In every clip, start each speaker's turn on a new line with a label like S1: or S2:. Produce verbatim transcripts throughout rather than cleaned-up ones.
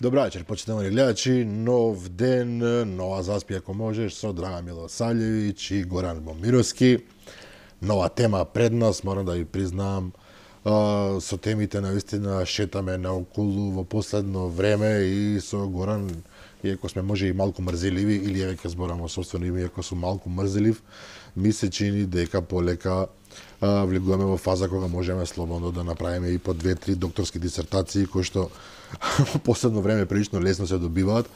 S1: Добра вечер, почитувани гледачи. Нов ден, нова заспи ако можеш со Драган Милосављевиќ и Горан Момировски. Нова тема пред нас, морам да ви признам. А, со темите навистина шетаме наоколу во последно време и со Горан, иако сме може и малку мрзеливи, или еве ќе зборам во собствено име, иако сум малку мрзелив, ми се чини дека полека а, влегуваме во фаза кога можеме слободно да направиме и по две-три докторски дисертации, кои што во последно време прилично лесно се добиваат.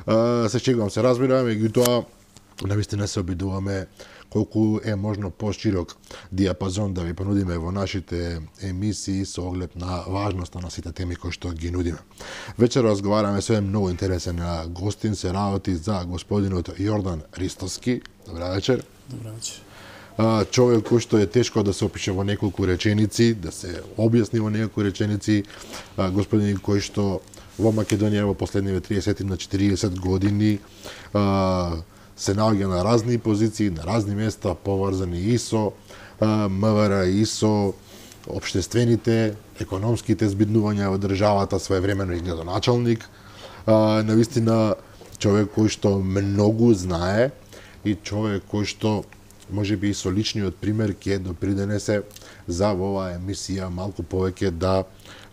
S1: А, се чегувам, се разбирам, меѓутоа навистина се обидуваме колку е можно поширок диапазон да ви понудиме во нашите емисии со оглед на важноста на сите теми кои што ги нудиме. Вечер разговараме со еден многу интересен гостин, се работи за господинот Јордан Ристовски. Добра вечер.
S2: Добра вечер.
S1: Човек кој што е тешко да се опише во неколку реченици, да се објасни во неколку реченици, господин кој што во Македонија во последниве триесет на четириесет години се наоѓа на разни позиции, на разни места, поврзани и со МВР, и со општествените, економските збиднувања во државата, своевремено и градоначалник. Навистина човек кој што многу знае и човек кој што може би и со личниот пример ќе допринесе за во оваа емисија малку повеќе да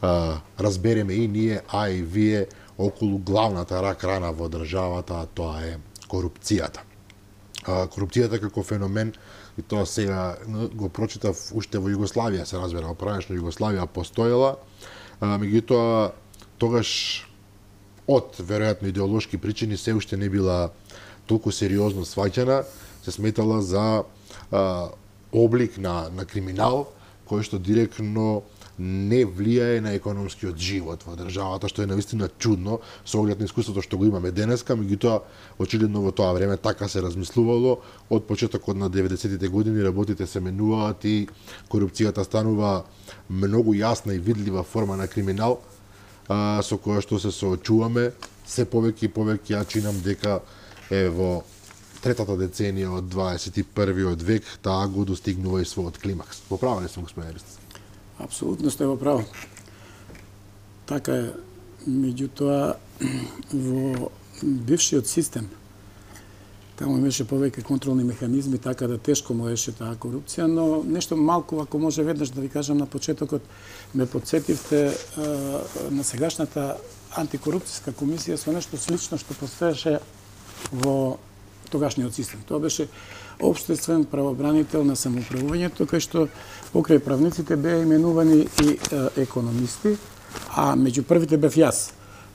S1: а, разбереме и ние, а и вие околу главната рак рана во државата, а тоа е корупцијата. А, корупцијата како феномен, и тоа сега го прочитав уште во Југославија, се разбира, во пранешна Југославија постоела, а, меѓутоа тогаш од веројатно идеолошки причини се уште не била толку сериозно сваќана, се сметала за а, облик на, на криминал, кој што директно не влијае на економскиот живот во државата, што е навистина чудно со оглед на искуството што го имаме денеска, меѓутоа очигледно во тоа време така се размислувало. Од почетокот на деветдесетите години работите се менуваат и корупцијата станува многу јасна и видлива форма на криминал, а, со која што се соочуваме. Се повеќе и повеќе ја чинам дека е во третата деценија од дваесет и првиот век таа го достигнува и својот климакс. Во право ли сум, господин Ристовски?
S2: Апсолутно сте во право. Така е, меѓутоа во бившиот систем таму имаше повеќе контролни механизми, така да тешко можеше таа корупција, но нешто малку, ако може веднаш да ви кажам на почетокот, ме подсетивте а, на сегашната антикорупцијска комисија со нешто слично што постоеше во тогашниот систем. Тоа беше општествен правобранител на самоуправувањето, кај што покрај правниците беа именувани и е, економисти, а меѓу првите бев јас.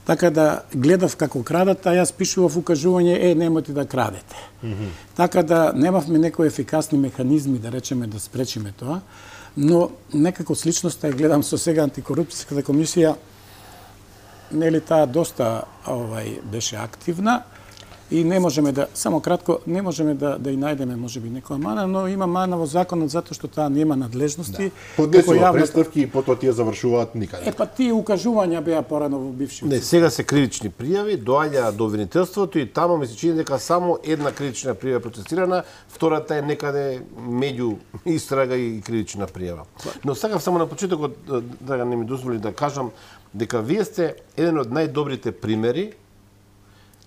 S2: Така да гледав како крадат, а јас пишував укажување, е, немојте да крадете. Mm -hmm. Така да немавме некои ефикасни механизми, да речеме, да спречиме тоа, но некако сличноста ја гледам со сега антикорупцијската комисија, нели таа доста овај беше активна, и не можеме да, само кратко, не можеме да да и најдеме можеби некоја мана, но има мана во законот затоа што таа нема надлежности.
S1: Да. Поднесува јавно... представки и потоа тие завршуваат никаде.
S2: Е па тие укажувања беа порано во бившиот.
S3: Не, сега се кривични пријави, доаѓа до обвинителството и таму ми се чини дека само една кривична пријава процесирана, втората е некаде меѓу истрага и кривична пријава. Но сакав само на почетокот да не ми дозволи да кажам дека вие сте еден од најдобрите примери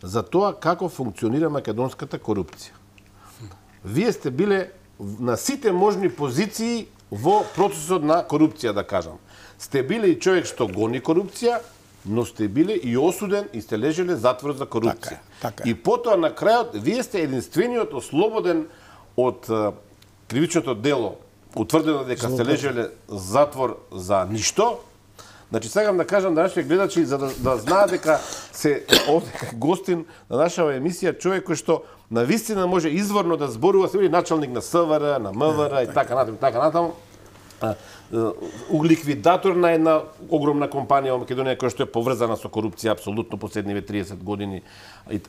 S3: за тоа како функционира македонската корупција. Вие сте биле на сите можни позиции во процесот на корупција, да кажам. Сте биле и човек што гони корупција, но сте биле и осуден и сте лежеле затвор за корупција.
S2: Така, така.
S3: И потоа на крајот вие сте единствениот ослободен од кривичното дело, утврдено дека сте лежеле затвор за ништо. Значи, сакам да кажам на нашите гледачи, за да, да знаат дека се овде гостин на нашава емисија, човек кој што навистина може изворно да зборува, се били началник на СВР, на МВР и така натаму, така натаму. Ликвидатор на една огромна компанија во Македонија која што е поврзана со корупција апсолутно последниве триесет години.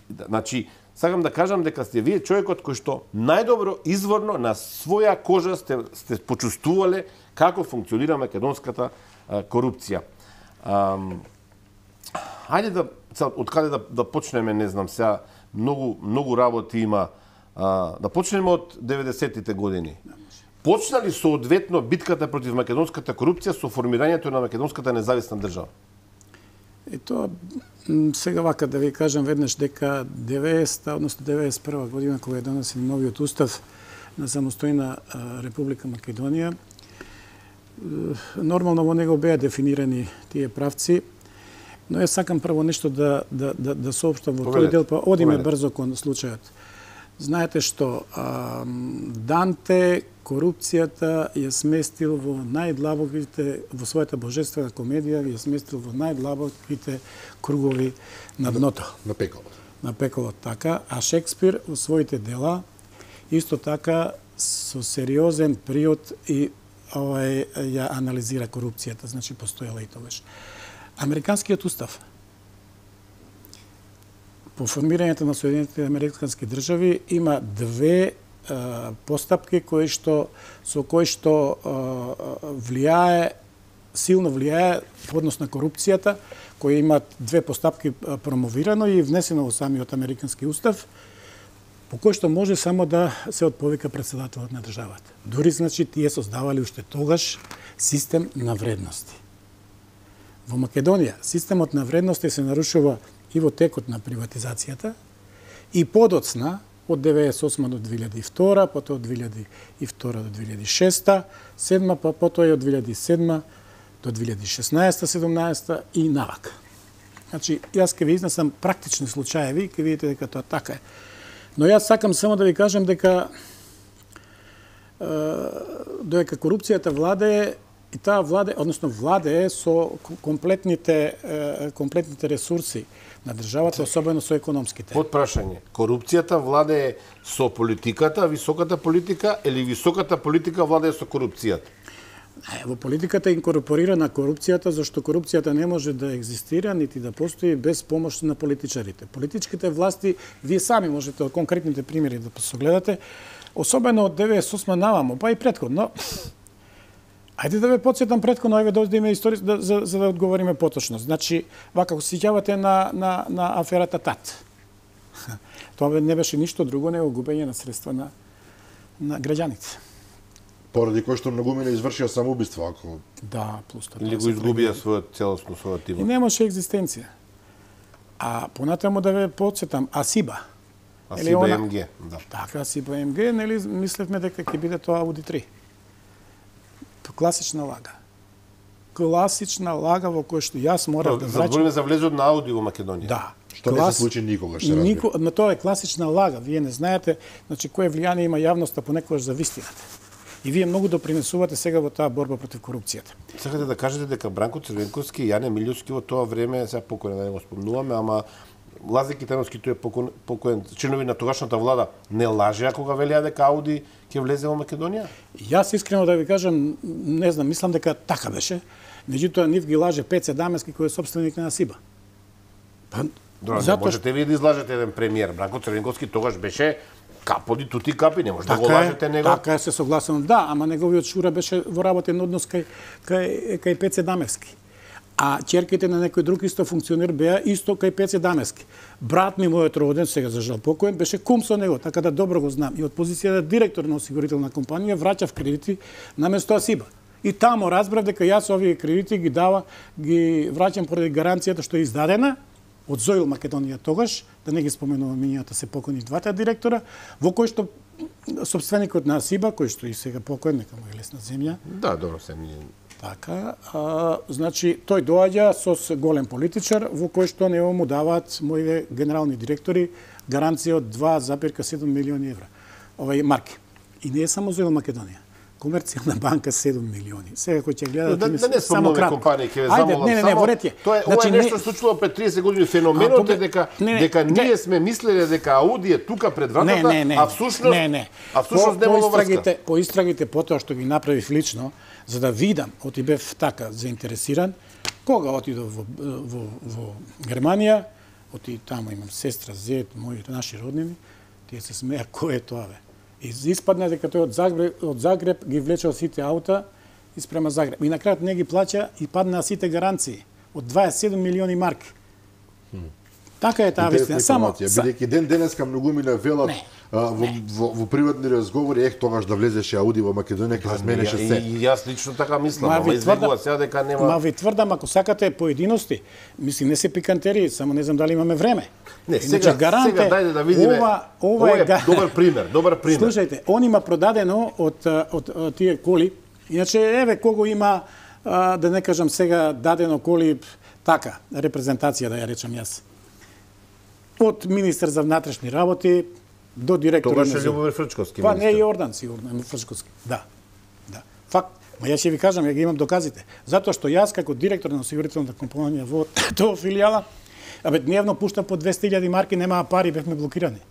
S3: Значи, сакам да кажам дека сте вие човекот кој што најдобро изворно на своја кожа сте сте почувствувале како функционира македонската корупција. Um, Хајде да од каде да, да почнеме, не знам, сега многу многу работи има. А, да почнеме од деветдесетите години. Почна ли соодветно битката против македонската корупција со формирањето на македонската независна држава?
S2: И тоа сега вака да ви кажам веднаш дека деветдесета, односно деветдесет и прва година кога е донесен новиот устав на самостојна Република Македонија, нормално во него беа дефинирани тие правци, но ја сакам прво нешто да да да да соопштам во тој дел, па одиме брзо кон случајот. Знаете што а, Данте корупцијата ја сместил во најдлабоките, во својата божествена комедија, ја сместил во најдлабоките кругови на дното.
S1: На пеколот.
S2: На пеколот, така. А Шекспир во своите дела исто така со сериозен приод и овај ја анализира корупцијата, значи постоела и тогаш. Американскиот устав по формирањето на Соединетите американски држави има две а, постапки кои што со кои што а, влијае силно влијае по однос на корупцијата, кои имаат две постапки а, промовирано и внесено во самиот американски устав, по кој што може само да се отповика претседателот на државата. Дури, значи, тие создавале уште тогаш систем на вредности. Во Македонија системот на вредности се нарушува и во текот на приватизацијата и подоцна од деветдесет и осма до две илјади и втора, потоа од две илјади и втора до две илјади и шеста, седма, па потоа и од две илјади и седма до две илјади и шеснаесета, седумнаесета и навака. Значи, јас ке ви изнесам практични случаеви и ке видите дека тоа така е. Но јас сакам само да ви кажам дека е, додека корупцијата владее, и таа владе, односно владее со комплетните комплетните ресурси на државата, особено со економските.
S3: Под прашање, корупцијата владее со политиката, високата политика, или високата политика владее со корупцијата?
S2: Во политиката е инкорпорирана корупцијата, зашто корупцијата не може да екзистира нити да постои без помош на политичарите. Политичките власти, вие сами можете од конкретните примери да согледате, особено од деветдесет и осма наваму, па и претходно. Ајде да ве потсетам претходно, ајде да одиме историја да, за, за да одговориме поточно. Значи, вака ако се сеќавате на на на аферата ТАТ. Тоа не беше ништо друго него губење на средства на на граѓаните.
S1: Поради кој што многумина извршија самоубиство, ако
S2: Да, плюс тоа.
S3: Или го изгубија својот целосно својот
S2: И
S3: тима.
S2: немаше екзистенција. А понатаму да ве потсетам, Асиба.
S3: Асиба М Г, да.
S2: Така, Асиба М Г, нели мислевме дека ќе биде тоа Ауди три. Класична лага. Класична лага во која што јас морав да враќам.
S3: Збориме за влезот на Ауди во Македонија.
S2: Да.
S1: што не се случи никогаш, се разбира.
S2: Нико, но тоа е класична лага. Вие не знаете, значи кое влијание има јавноста понекогаш за вистината. И вие многу допринесувате сега во таа борба против корупцијата.
S3: Сакате да кажете дека Бранко Црвенковски и Јане Милјовски во тоа време, сега покоен, да не го спомнуваме, ама Лазар Китановски, тој е покоен, покоен чинови на тогашната влада, не лажеа кога велеа дека Ауди ќе влезе во Македонија?
S2: Јас искрено да ви кажам, не знам, мислам дека така беше. Меѓутоа нив ги лаже Пеце Дамески кој е собственик на Асиба. Па,
S3: Добро,
S2: затоа
S3: можете вие да излажете еден премиер. Бранко Црвенковски тогаш беше каподи тути капи, не може да
S2: така
S3: го лажете
S2: е,
S3: него.
S2: Така е, се согласувам. Да, ама неговиот шура беше во работен однос кај кај кај Пеце Дамевски. А ќерките на некој друг исто функционер беа исто кај Пеце Дамевски. Брат ми, мојот роден, сега за жал покоен, беше кум со него, така да добро го знам. И од позицијата директор на осигурителна компанија враќав кредити наместо Асиба. И тамо разбрав дека јас овие кредити ги дава, ги враќам поради гаранцијата што е издадена од Зоил Македонија тогаш, да не ги споменувам имињата, се покони двата директора, во кој што собственикот на Асиба, кој што и сега покоен, нека му е лесна земја.
S3: Да, добро се ние.
S2: Така, а, значи тој доаѓа со голем политичар во кој што него му даваат моите генерални директори гаранција од два зарез седум милиони евра. Овај марки. И не е само Зоил Македонија. Комерцијална банка седум милиони. Сега кој ќе гледа
S3: Да, да не спомнуваме компании, ќе ве замолам.
S2: Не, не, не, во ред е.
S3: Тоа е,
S2: Значи,
S3: ова е нешто
S2: не...
S3: случило пред триесет години. Феноменот е дека
S2: не, не,
S3: дека
S2: не.
S3: ние сме мислеле дека Ауди е тука пред вратата,
S2: не, не,
S3: а всушност
S2: не, не.
S3: а всушност немало врска.
S2: По истрагите потоа што ги направив лично, за да видам, оти бев така заинтересиран, кога отидов во, во, во Германија, оти таму имам сестра, зет, мои наши роднини, тие се смеа кој е тоа бе. И испадна дека тој од Загреб, од Загреб ги влечел сите аута и спрема Загреб. И на крајот не ги плаќа и падна сите гаранции од дваесет и седум милиони марки. Така е таа вистина. Само
S1: бидејќи ден денеска многумина велат во, во, во приватни разговори, ех тогаш да влезеше Ауди во Македонија ќе се сменеше се.
S3: И јас лично така мислам, ама излегува сега дека нема.
S2: Ма ви тврдам, ако сакате поединости, мислам не се пикантерии, само не знам дали имаме време.
S3: Не, сега,
S2: гаранте,
S3: сега дајде да видиме.
S2: Ова, ова,
S3: ова е,
S2: е
S3: добар пример, добар пример.
S2: Слушајте, он има продадено од, од, од тие коли. Иначе еве кого има, а, да не кажам сега, дадено коли така, репрезентација да ја речам јас. Од министер за внатрешни работи до директор.
S3: Тогаш е Љубомир Фрчковски.
S2: Па не Јордан сигурно, Фрчковски. Да. Да. Факт. Ма јас ќе ви кажам, ја ги имам доказите. Затоа што јас како директор на осигурителната компанија во тоа филијала, абе дневно пушта по двесте илјади марки, немаа пари, бевме блокирани.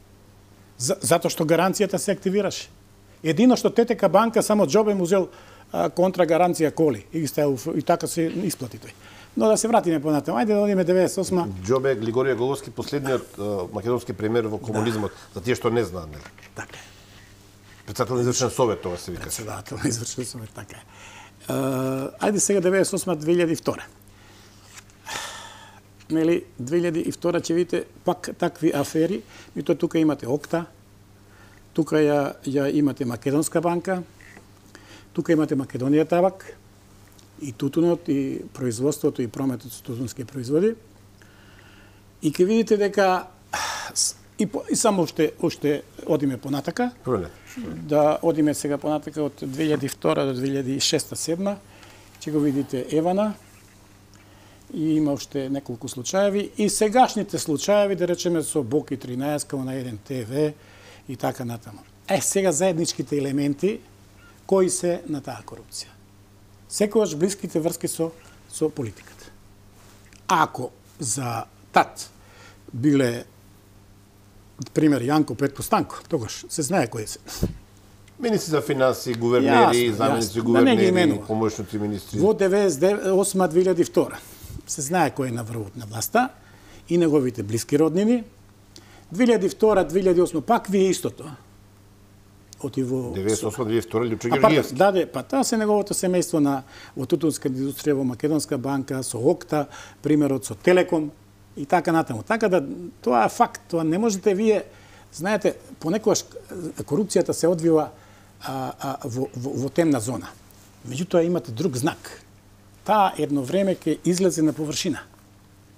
S2: За, затоа што гаранцијата се активираше. Едино што ТТК банка само џобе му зел контра гаранција коли и ги ставил и така се исплати тој. Но да се вратиме понатаму. Ајде да одиме деветдесет и осма.
S3: Џобе Глигорија Головски, последниот uh, македонски премиер во комунизмот, да. За тие што не знаат, нели?
S2: Така е.
S3: Председател на извршен совет, тоа се вика.
S2: Председател на извршен совет, така е. Uh, ајде сега деветдесет и осма две илјади и втора. Нели, две илјади и втора ќе видите пак такви афери, и тоа тука имате Окта, тука ја, ја имате Македонска банка, тука имате Македонија табак, и тутунот, и производството, и прометот со тутунски производи. И ќе видите дека и, по, и само уште, уште одиме понатака.
S3: Проле.
S2: Да одиме сега понатака од две илјади и втора до две илјади и шеста седма. Ќе го видите Евана. И има уште неколку случаеви. И сегашните случаеви, да речеме, со Боки тринаесет, на еден Те Ве и така натаму. Е, сега заедничките елементи кои се на таа корупција. Секогаш блиските врски со, со политиката. Ако за ТАТ биле, пример, Јанко Петко Станко, тогаш се знае кои се.
S3: Министри за финанси, гувернери, заменици гувернери, да помошници министри.
S2: Во деветдесет и осма две илјади и втора се знае кој е на врвот на власта и неговите блиски роднини. две илјади и втора две илјади и осма пак ви е истото. Оти во
S3: деветдесет и осма две илјади и втора Љупчо Ѓорѓиевски.
S2: Да, да, па тоа се неговото семејство на во тутунска индустрија во Македонска банка, со Окта, примерот со Телеком и така натаму. Така да тоа е факт, тоа не можете вие, знаете, понекогаш корупцијата се одвива а, а, во, во, во темна зона. Меѓутоа имате друг знак. Таа едно време ќе излезе на површина.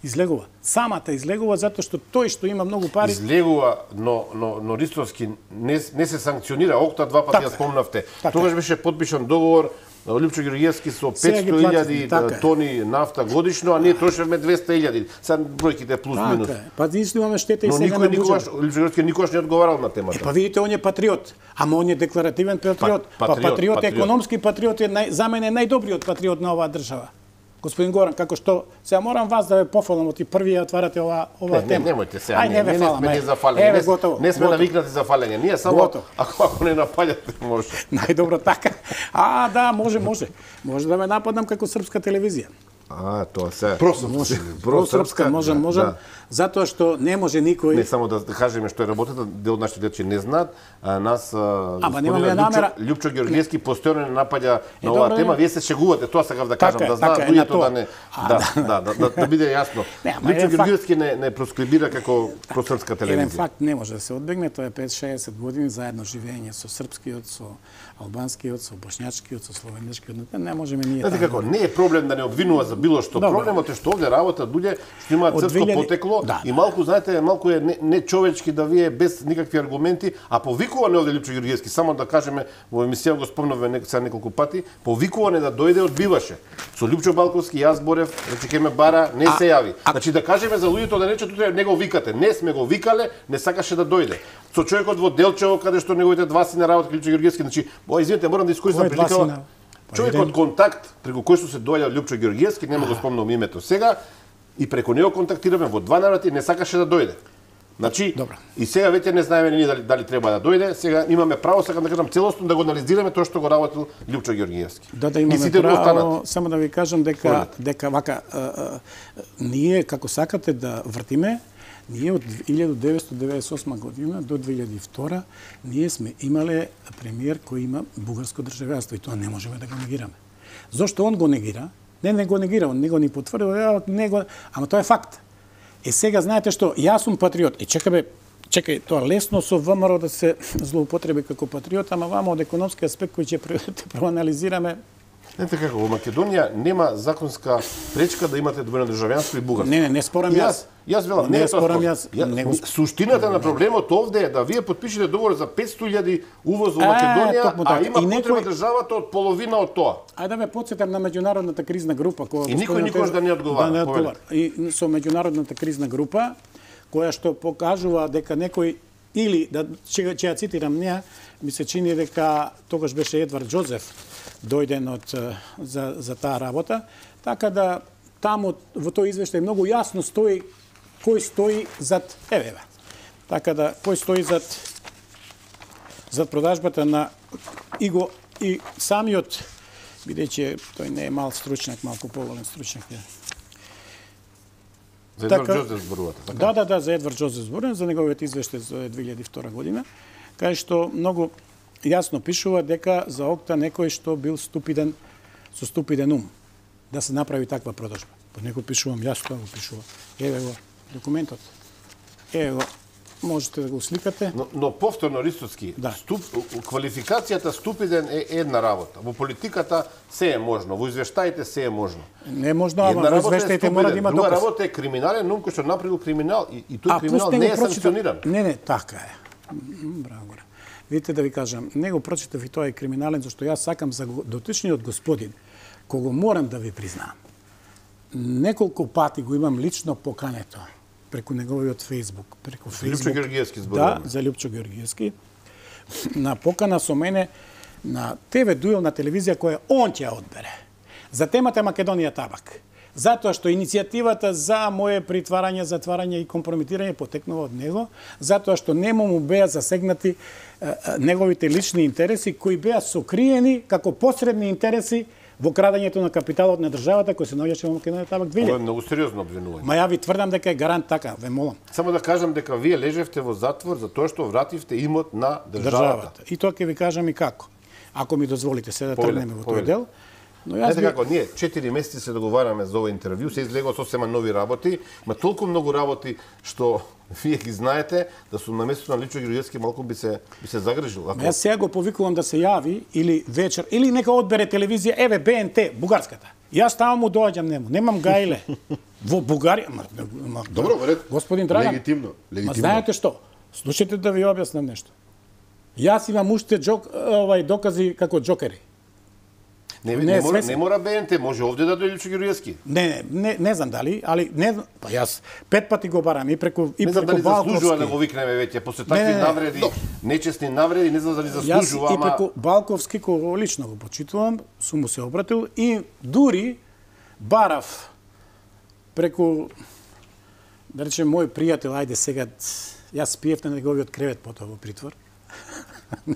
S2: Излегува. Самата излегува затоа што тој што има многу пари
S3: излегува, но но но Ристовски не не се санкционира. Окта два пати ја спомнавте. Тогаш беше подпишан договор Љупчо Ѓорѓиевски со петсто илјади тони нафта годишно, а ние трошевме двесте илјади. Сега бројките плюс минус.
S2: Па исто имаме штета и сега
S3: на никогаш Љупчо Ѓорѓиевски никогаш не одговарал на темата.
S2: Е, па видите, он е патриот, ама он е декларативен патриот. Па, патриот, па патриот, патриот, економски патриот е нај, за мене најдобриот патриот на оваа држава. Господин Горан, како што сега морам вас да ве пофалам, оти први ја отварате ова ова
S3: не,
S2: тема.
S3: Не, немојте сега.
S2: Ај, не, не, не сме
S3: не за фалење.
S2: Еве, готово.
S3: Не сме навикнати за фалење. Ние само
S2: готово.
S3: ако ако не напаѓате може.
S2: Најдобро така. А, да, може, може. Може да ме нападам како српска телевизија.
S3: А, тоа се.
S1: Просрпска.
S2: Просрпска, можам, можам. Да. Затоа што не може никој.
S3: Не само да кажеме што е работата, дел од нашите дечи не знаат, а нас
S2: Ама немаме намера.
S3: Љупчо Ѓорѓиевски постојано напаѓа на оваа тема, вие се шегувате, тоа сакав да кажам, да знаат луѓето да не да, да, да, да биде јасно. Љупчо Ѓорѓиевски не не просклибира како просрпска телевизија.
S2: Еден факт не може да се одбегне, тоа е петдесет шеесет години заедно живење со српскиот, со албанскиот, со бошњачкиот, со словенечкиот, не можеме ние.
S3: Знаете како, не е проблем да не обвинува за било што. Добре. Проблемот е што овде работа луѓе што имаат српско две илјади потекло да, и малку, знаете, малку е не, не човечки да вие без никакви аргументи, а повикуване овде Љупчо Ѓорѓиевски, само да кажеме, во емисија го спомнавме нек, сега неколку пати, повикуване да дојде одбиваше. Со Љупчо Балковски јас зборев, рече ке ме бара, не а, се јави. А, значи да кажеме за луѓето да рече тука не го викате, не сме го викале, не сакаше да дојде. Со човекот во Делчево каде што неговите два сина работат Љупчо Ѓорѓиевски, значи, о, извинете, морам да искористам приликава. Човекот контакт преку кој што се доаѓа Љупчо Ѓорѓиевски, нема го спомнам името сега, и преку него контактираме во два наврати, не сакаше да дојде. Значи, добро. И сега веќе не знаеме ние дали, дали треба да дојде, сега имаме право, сакам да кажам целосно да го анализираме тоа што го работил Љупчо Ѓорѓиевски.
S2: Да, да имаме право, само да ви кажам дека, дека вака, а, а, ние како сакате да вртиме, ние од илјада деветстотини деветдесет и осма година до две илјади и втора ние сме имале премиер кој има бугарско државјанство и тоа не можеме да го негираме. Зошто он го негира? Не, не го негира, он не го ни потврдил, не го, ама тоа е факт. Е сега знаете што, јас сум патриот. И чекаме, чекај, тоа лесно со ВМРО да се злоупотреби како патриот, ама вамо од економски аспект кој ќе проанализираме.
S3: Знаете како, во Македонија нема законска пречка да имате двојно државјанство и бугарство.
S2: Не, не, не спорам јас.
S3: Јас велам, не,
S2: не
S3: е тоа
S2: спорам
S3: спор.
S2: јас.
S3: Ја,
S2: не го...
S3: Суштината на проблемот овде е да вие потпишете договор за петстотини илјади увоз во Македонија, а, а има некој... потреба државата од половина од тоа.
S2: Ајде да ме потсетам на меѓународната кризна група која
S3: и никој никош да не одговара.
S2: Да не одговара. И со меѓународната кризна група која што покажува дека некој или да ќе ќе ја цитирам неа, ми се чини дека тогаш беше Едвард Џозеф дојден од за за таа работа, така да таму во тој извештај многу јасно стои кој стои зад еве. Така да кој стои зад зад продажбата на и го и самиот, бидејќи тој не е мал стручњак, малку поволен стручњак е.
S3: За Едвард Џозеф зборувате, така?
S2: Да, да, да, за Едвард Џозеф зборувам, за неговиот извештај за две илјади и втора година, кај што многу јасно пишува дека за Окта некој што бил ступиден, со ступиден ум, да се направи таква продажба. Под него пишувам, јас тоа го пишува. Еве го документот. Еве го, можете да го сликате.
S3: Но, но повторно, Ристовски,
S2: да.
S3: ступ, квалификацијата ступиден е една работа. Во политиката се е можно, во извештаите се е можно.
S2: Не е можно, ама во извештаите мора да има
S3: доказ. Друга
S2: доказ.
S3: работа е криминален ум кој што направил криминал и, и тој
S2: а,
S3: криминал не е санкциониран.
S2: Не, не, така е. Браво. Видите да ви кажам, него прочитав и тоа е криминален, зашто јас сакам за дотичниот господин, кого морам да ви признаам. Неколку пати го имам лично покането преку неговиот Фејсбук, преку Фејсбук.
S3: Лјупчо Георгиевски зборуваме.
S2: Да, за Лјупчо Георгиевски. На покана со мене на Те Ве дуел на телевизија која он ќе ја одбере. За темата Македонија табак. Затоа што иницијативата за моје притварање, затварање и компрометирање потекнува од него, затоа што нему му беа засегнати е, е, неговите лични интереси кои беа сокриени како посредни интереси во крадењето на капиталот на државата кој се наоѓаше во Македонија табак две илјади.
S3: Ова е многу сериозно обвинување.
S2: Ма ја ви тврдам дека е гарант така, ве молам.
S3: Само да кажам дека вие лежевте во затвор за тоа што вративте имот на државата.
S2: државата. И тоа ќе ви кажам и како. Ако ми дозволите се да тргнеме во тој дел. Но јас
S3: Знаете како, ние четири месеци се договараме за ова интервју, се излегува сосема нови работи, има толку многу работи што вие ги знаете, да сум на местото на Лјупчо Георгиевски малку би се би се загрижил. Ако...
S2: Јас сега го повикувам да се јави или вечер или нека одбере телевизија, еве Б Н Т, бугарската. Јас таму му доаѓам нему, немам гајле. Во Бугарија, ма, ма,
S1: Добро, ред.
S2: Господин Драган.
S1: Легитимно, легитимно.
S2: Ма знаете што? Слушайте да ви објаснам нешто. Јас имам уште джок, овај докази како џокери.
S3: Не, не, не, мора, не мора Б Н Т, може овде да дојде Лјупчо Георгиевски.
S2: Не, не, не знам дали, али не знам, па јас пет пати го барам и преку и
S3: не знам
S2: преку
S3: дали заслужува
S2: Балковски.
S3: да го викнеме веќе после такви
S2: не, не,
S3: навреди,
S2: до...
S3: нечесни навреди, не знам дали заслужува,
S2: јас
S3: ама
S2: и преку Балковски кого лично го почитувам, сум му се обратил и дури барав преку да речем мој пријател, ајде сега јас спиев на неговиот кревет потоа во притвор.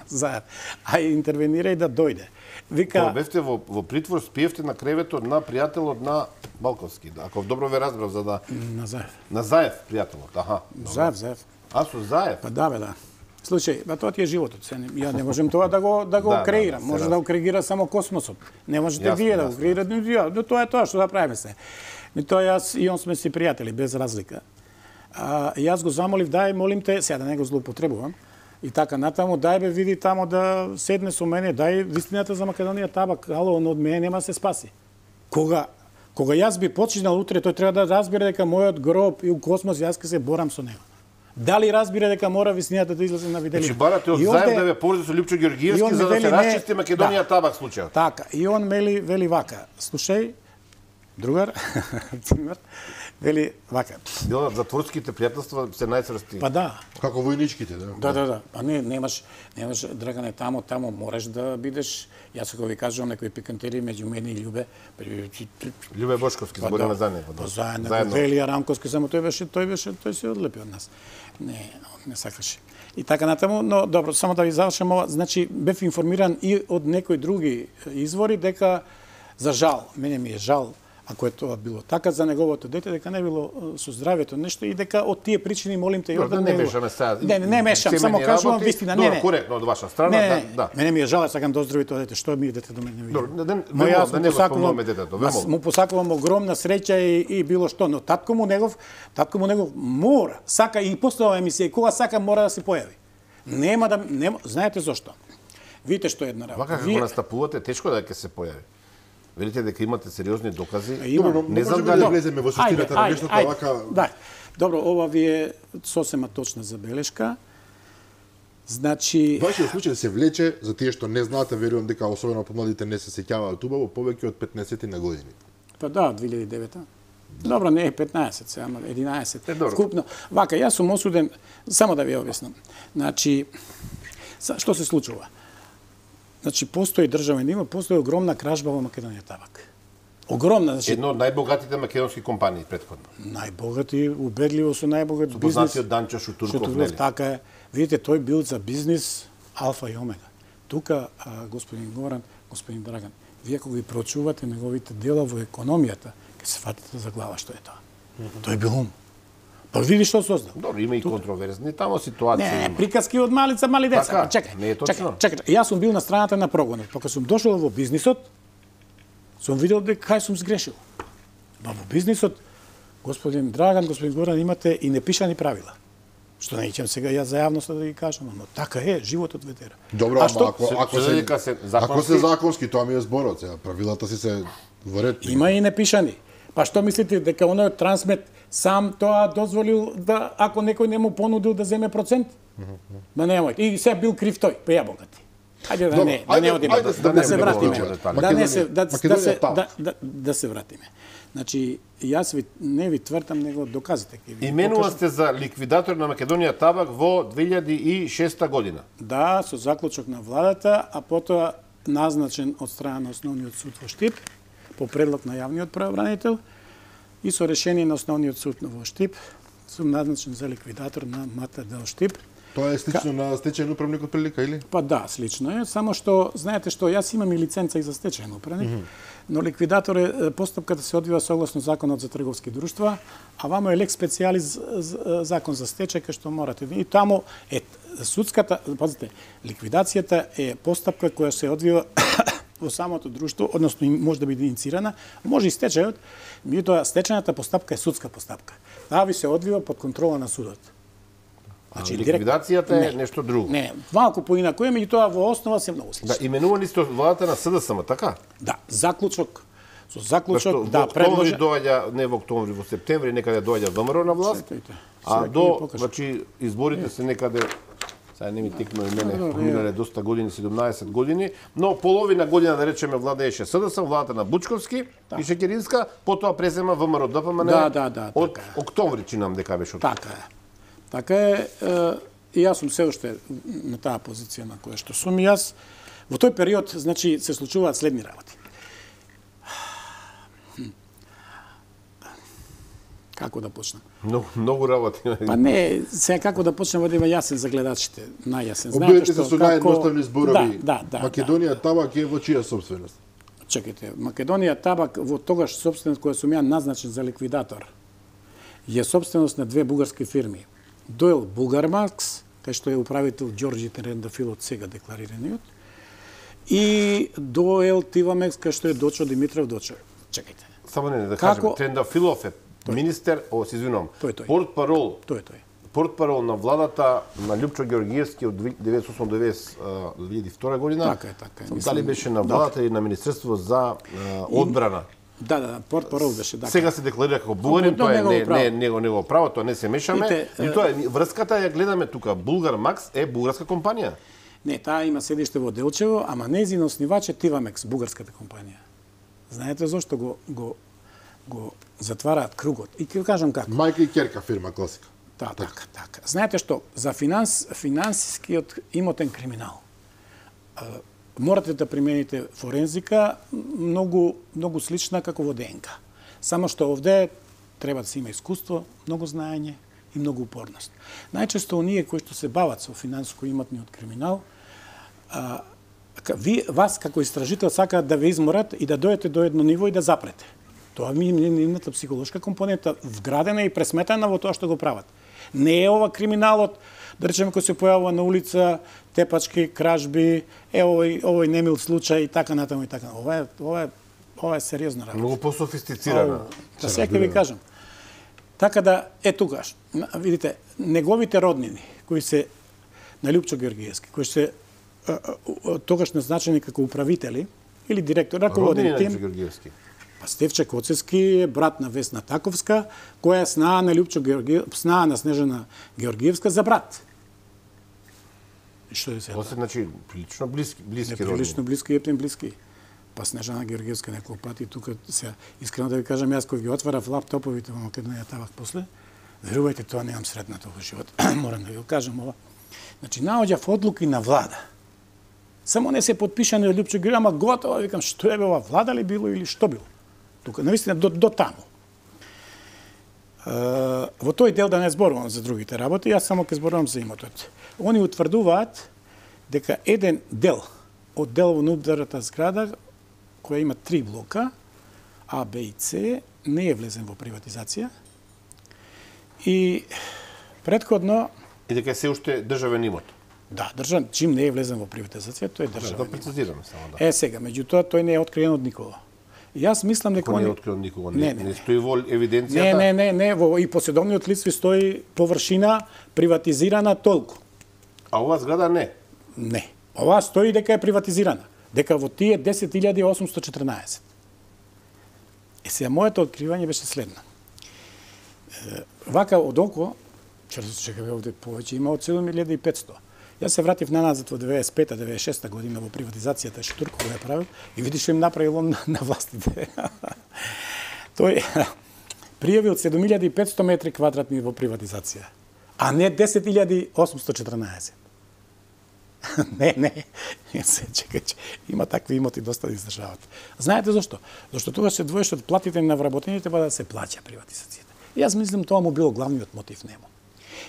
S2: Заедно. А интервенира и да дојде. Вика,
S3: Кога бевте во, во притвор, спиевте на креветот на пријателот на Балковски. Ако добро ве разбрав, за да...
S2: На Заев.
S3: На Заев, пријателот, аха.
S2: Заев, Заев.
S3: А, со Заев?
S2: Па да, бе, да. Случај, ба тоа ти е животот. Се, ја не можем тоа да го да го
S3: Да,
S2: креирам.
S3: да, да,
S2: Може
S3: се
S2: да го креира само космосот. Не можете
S3: Јасно,
S2: вие да го
S3: јасно.
S2: креирате, ја, но тоа е тоа што да правиме се. Ми тоа јас и он сме си пријатели без разлика. А, јас го замолив, дај, молим те, сега да не го злоупотребувам. И така натаму, дај бе види тамо да седне со мене, дај вистината за Македонија табак, ало, он од мене нема се спаси. Кога кога јас би починал утре, тој треба да разбере дека мојот гроб и у космос јас ќе се борам со него. Дали разбира дека мора вистината да излезе на виделина?
S3: Значи барате од
S2: И
S3: Заев
S2: онде-
S3: да ве поврзе со Лјупчо
S2: и
S3: Георгиевски
S2: он
S3: за да
S2: вели,
S3: се
S2: не,
S3: расчисти Македонија
S2: да.
S3: табак случајот.
S2: Така, и он мели, вели вака, слушај, другар, Тимер, вели вака.
S3: Дел на затворските пријателства се најцрсти.
S2: Па да,
S1: Како војничките, да.
S2: да, да, да. Па не, немаш, немаш, Драгане, тамо, тамо мораш да бидеш, јас ако ви кажувам некои пикантери меѓу мене и Љубе,
S3: Љубе Бошковски збориме за него.
S2: Па заедно, Велија Рамковски, само тој беше, тој беше, тој се одлепи од нас. Не, он не сакаше. И така натаму, но добро, само да ви завршам ова, значи бев информиран и од некои други извори дека за жал, мене ми е жал, ако е тоа било така за неговото дете, дека не било со здравјето нешто и дека од тие причини молим те Јордан
S3: не мешаме сега.
S2: Не, не, не мешам, само кажувам вистина, не, не.
S3: Коректно од ваша страна,
S2: не,
S3: да, да.
S2: Мене ми е жал, сакам да оздрави тоа дете, што ми идете до мене.
S3: Добро, да не
S2: да
S3: не го спомнуваме детето, ве молам.
S2: Му посакувам огромна среќа и, и било што, но татко му негов, татко му негов мора, сака и после оваа емисија, и кога сака мора да се појави. Нема да нема, знаете зошто? Видите што е една работа.
S3: Вака како настапувате, тешко да ќе се појави. Велите дека имате сериозни докази.
S1: Добро, не знам дали влеземе во суштината на нештото, вака...
S2: Да, добро, ова ви е сосема точна забелешка. Значи...
S1: Вашиот случај се влече, за тие што не знаате, верувам дека особено помладите не се сеќаваат убаво, повеќе од петнаесет на години.
S2: Па да, две илјади и девета. Добро, не е петнаесет, сега, ама единаесет.
S3: Е, добро.
S2: Вкупно. Вака, јас сум осуден, само да ви објаснам. Значи, што се случува? Значи, постои државен има, постои огромна кражба во Македонија табак. Огромна, значи...
S3: Едно од најбогатите македонски компании предходно.
S2: Најбогати, убедливо со најбогат бизнес.
S3: Познатиот Данчо Шутурков, нели?
S2: Така е. Видите, тој бил за бизнис алфа и омега. Тука, а, господин Горан, господин Драган, вие кога ги прочувате неговите дела во економијата, ќе се фатите за глава што е тоа. Mm -hmm. Тој бил ум. Па види што создал.
S3: Добро, има и контроверзни тамо ситуации.
S2: Не, не, приказки од малица, мали деца.
S3: Така,
S2: чекај,
S3: не е точно.
S2: чекај, чекај. Јас сум бил на страната на прогонот. Па кога сум дошол во бизнисот, сум видел дека кај сум сгрешил. Ба во бизнисот, господин Драган, господин Горан, имате и непишани правила. Што не ичам сега јас за јавноста да ги кажам, но така е, животот ветера.
S1: Добро,
S2: а
S1: ама
S2: што?
S1: ако, ако,
S3: се,
S1: се,
S3: се,
S1: ако се законски, тоа ми е зборот, сега правилата си се во ред.
S2: Има и непишани. Па што мислите дека оној трансмет сам тоа дозволил да ако некој не му понудил да земе процент? Ма немој. И се бил крив тој, па ја богати. Ајде да не, да не одиме, да се вратиме. Да не се да се да да се вратиме. Значи, јас ви не ви тврдам, него доказите ќе ви.
S3: Именува сте за ликвидатор на Македонија табак во две илјади и шеста година.
S2: Да, со заклучок на владата, а потоа назначен од страна на Основниот суд во Штип по предлог на јавниот правобранител и со решение на Основниот суд во Штип сум назначен за ликвидатор на МТД Штип.
S1: Тоа е слично Ка... на стечајен управник од прилика, или?
S2: Па да, слично е, само што знаете што јас имам и лиценца и за стечајен управник, mm -hmm. но ликвидатор е постапката се одвива согласно законот за трговски друштва, а вамо е лек специјализ закон за стечај кај што морате. И таму е судската, пазите, ликвидацијата е постапка која се одвива во самото друштво, односно може да биде инициирана, може и стечајот, меѓутоа стечајната постапка е судска постапка. Таа ви се одвива под контрола на судот.
S3: Значи, ликвидацијата е не, нешто друго.
S2: Не, малку поинаку е, меѓутоа во основа се многу слично.
S3: Да, именувани сте од владата на СДСМ, така?
S2: Да, заклучок. Со заклучок,
S3: Зашто,
S2: да, предложи...
S3: доаѓа, не во октомври, во септември, некаде доаѓа ВМРО на власт,
S2: Чекайте,
S3: а до, значи, изборите се некаде, сега не ми текно и мене, поминале доста години, седумнаесет години, но половина година, да речеме, владееше СДСМ, владата на Бучковски да. и Шекеринска, потоа презема ВМРО ДПМН
S2: да, да, да,
S3: од
S2: така
S3: октомври, чинам дека беше од...
S2: Така е. Така е, е, и јас сум се уште на таа позиција на која што сум и јас. Во тој период, значи, се случуваат следни работи. Како да почнам?
S3: Многу, многу работи.
S2: Па не, сега како да почнем да има јасен за гледачите, најјасен.
S1: Обидете се со наједноставни зборови.
S2: Да, да, да.
S1: Македонија табак е во чија собственост?
S2: Чекайте, Македонија табак во тогаш собственост која сум ја назначен за ликвидатор е собственост на две бугарски фирми. Дойл Булгармакс, кај што е управител Ѓорѓи Трендафилот, сега декларираниот, и Дойл Тивамекс, кај што е Дочо Димитров Дочо. Чекајте.
S3: Само не, да
S2: Како...
S3: кажем, Трендафилов е министер, о, се извинувам, портпарол,
S2: тој тој.
S3: Портпарол на владата на Љупчо Ѓоргиевски од деветнаесет осум до две илјади и втора година.
S2: Така е, така е.
S3: Дали беше на владата или на Министерство за одбрана?
S2: Да, да, да, портпарол беше, да.
S3: Сега се декларира како бугарин, тоа е не не него негово право, тоа не се мешаме. И тоа е врската ја гледаме тука. Булгармакс е бугарска компанија.
S2: Не, таа има седиште во Делчево, ама нејзин основач е Тивамекс, бугарската компанија. Знаете зошто го го го затвараат кругот? И ќе кажам како.
S1: Мајка и ќерка фирма класика.
S2: Да, така, така. Знаете што, за финанс, финансискиот имотен криминал морате да примените форензика многу многу слична како во ДНК. Само што овде треба да се има искуство, многу знаење и многу упорност. Најчесто оние кои што се бават со финансиско-имотниот криминал, а, ви, вас како истражител сакаат да ве изморат и да дојдете до едно ниво и да запрете. Тоа ми е нивната психолошка компонента вградена и пресметена во тоа што го прават. Не е ова криминалот, да речеме, кој се појавува на улица, тепачки, кражби, е овој овој немил случај и така натаму и така. Ова е ова е ова е сериозна работа.
S3: Многу пософистицирана.
S2: Да сега ви кажам. Така да е тугаш. Видите, неговите роднини кои се на Лјупчо Георгиевски, кои се тогаш назначени како управители или директор, раководен тим.
S3: Георгиевски.
S2: Па Стефче Коцевски е брат на Весна Таковска, која снаа на Лјупчо Георгиев, снаа на Снежана Георгиевска за брат. И што е сега?
S3: Тоа се значи прилично блиски, блиски роднини.
S2: Прилично блиски, ептен блиски. Па Снежана Георгиевска неколку пати тука се искрено да ви кажам, јас кога ги отварав лаптоповите во Македонија Табак после, верувајте, тоа немам сретнато во живот. Морам да ви го кажам ова. Значи наоѓав одлуки на влада. Само не се подпишани од Лјупчо Георгиев, ама готово, викам, што е ова, влада ли било или што било? Тука, навистина, до, до таму. Е, во тој дел да не зборувам за другите работи, јас само ќе зборувам за имотот. Они утврдуваат дека еден дел од дел во внутрата зграда, која има три блока, А, Б и С, не е влезен во приватизација. И претходно...
S3: И дека се уште државен имот.
S2: Да, државен, чим не е влезен во приватизација, тој е државен
S3: Да,
S2: имот.
S3: прецизираме само да.
S2: Е, сега, меѓутоа, тој не е откриен од никого. И јас мислам дека
S3: Кој не
S2: они...
S3: е открил никого,
S2: Не,
S3: не,
S2: не,
S3: не
S2: не.
S3: стои во евиденцијата.
S2: Не, не, не, не, во и поседовниот лист стои површина приватизирана толку.
S3: А ова зграда не.
S2: Не. Ова стои дека е приватизирана. Дека во тие десет илјади осумсто четрнаесет. Е, сега, моето откривање беше следно. Е, вака од око, чекаме овде повеќе, има од седум илјади и петсто. Јас се вратив наназад во деветдесет и пета деветдесет и шеста година во приватизацијата што Турко го е правил и видиш што им направил он на властите. Тој пријавил седум илјади и петсто метри квадратни во приватизација, а не десет илјади осумсто четрнаесет. Не, не, се чекај, има такви имоти доста да издржават. Знаете зашто? Зашто тогаш се двоеше од платите на вработените па да се плаќа приватизацијата. И јас мислам тоа му било главниот мотив нему.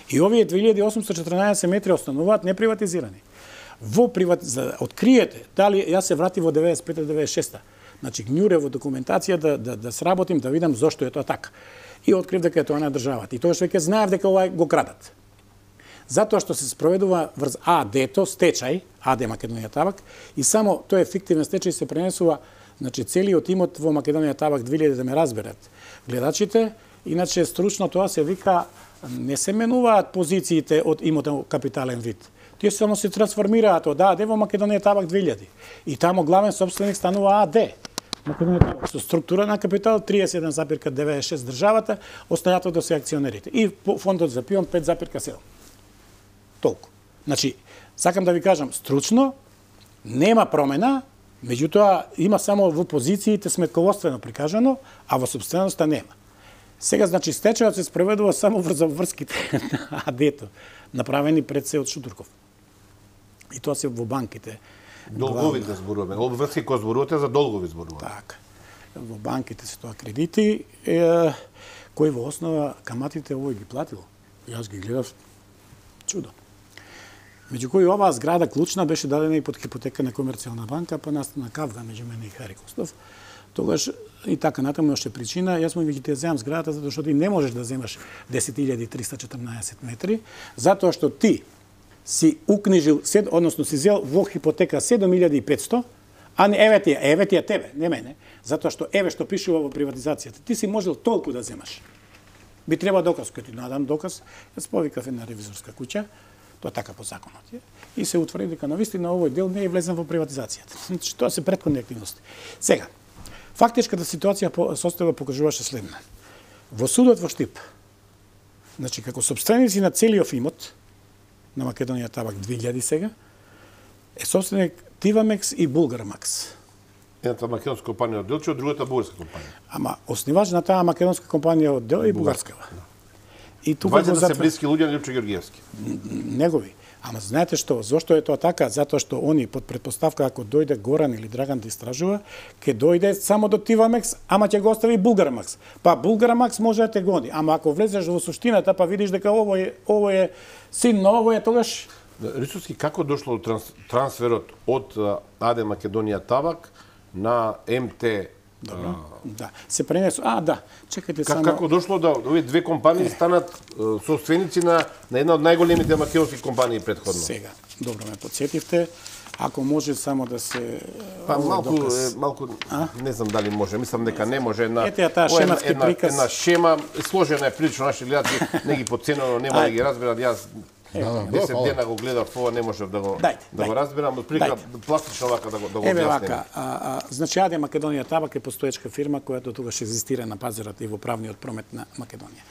S2: И овие две илјади осумсто четрнаесет метри остануваат неприватизирани. Во приват... за да откриете, дали јас се вратив во деветдесет и пета деветдесет и шеста. Значи гњуре во документација да да да сработим, да видам зошто е тоа така. И открив дека е тоа на државата. И тогаш веќе знаев дека ова го крадат. Затоа што се спроведува врз АД-то, стечај, АД Македонија Табак, и само тој ефективен стечај се пренесува, значи целиот имот во Македонија Табак две илјади да ме разберат гледачите, иначе стручно тоа се вика, не се менуваат позициите од имотен капитален вид. Тие само се трансформираат од АД во Македонија Табак две илјади. И тамо главен собственик станува АД. Македонија Табак со структура на капитал триесет и еден запирка деветдесет и шест државата, останатото се акционерите. И фондот за пион пет запирка седум. Толку. Значи, сакам да ви кажам, стручно нема промена, меѓутоа има само во позициите сметководствено прикажано, а во собственоста нема. Сега, значи, стечајот се спроведува само врз врските на АД-то, направени пред се од Шутурков. И тоа се во банките.
S3: Долгови да зборуваме. Обврски кој зборувате за долгови зборуваме.
S2: Така. Во банките се тоа кредити, е, кои во основа каматите овој ги платил. Јас ги гледав чудо. Меѓу кои оваа зграда клучна беше дадена и под хипотека на Комерцијална банка, па настана кавга меѓу мене и Хари Костов. Тогаш и така натаму още причина, јас му ги те земам зградата затоа што ти не можеш да земаш десет илјади триста четрнаесет метри, затоа што ти си укнижил, односно си зел во хипотека седум илјади и петсто, а не еве ти, еве ти тебе, не мене, затоа што еве што пишува во приватизацијата, ти си можел толку да земаш. Би треба доказ, кој ти надам доказ, јас повикав една ревизорска куќа, тоа така по законот е, и се утврди дека навистина овој дел не е влезен во приватизацијата. Значи тоа се претходни активности. Сега, фактичката ситуација состојба покажуваше следна. Во судот во Штип, значи како собственици на целиот имот на Македонија Табак две илјади сега, е собственик Тивамекс и Булгармакс.
S3: Едната македонска компанија од Делчево, другата бугарска компанија.
S2: Ама основач на таа македонска компанија од Дел и бугарскава. И тука
S3: Двајцата
S2: затвор...
S3: се блиски луѓе на Лјупчо Георгиевски.
S2: Негови. Ама знаете што, зошто е тоа така? Затоа што они под претпоставка ако дојде Горан или Драган да истражува, ќе дојде само до Тивамекс, ама ќе го остави Булгармакс. Па Булгармакс може да те гони, ама ако влезеш во суштината па видиш дека ово е ово е син на ово е тогаш
S3: Рисовски, како дошло до транс, трансферот од АД Македонија Табак на МТ
S2: Добро. Да. Се пренесу. А, да. Чекајте
S3: Как,
S2: само.
S3: Како дошло да овие две компании станат е, собственици на, на една од најголемите македонски компании претходно?
S2: Сега, добро ме подсетивте. Ако може само да се
S3: Па
S2: овој
S3: малку,
S2: доказ.
S3: е, малку не знам дали може, мислам дека не може. Една,
S2: Ете ја таа
S3: ова е една-
S2: шематски
S3: една,
S2: приказ.
S3: Една шема, сложена е прилично, наши гледачи не ги подценено, нема да ги разберат. Јас
S1: Да,
S3: десет
S1: фала.
S3: дена го гледав ова, не можев да го,
S2: Дајте,
S3: да го
S2: дајте.
S3: разберам. Отприлика
S2: Дајте.
S3: пластично вака да го, да го
S2: Еве
S3: објасним.
S2: вака, а, а, значи Аде Македонија Табак е постоечка фирма која тогаш екзистира на пазарот и во правниот промет на Македонија.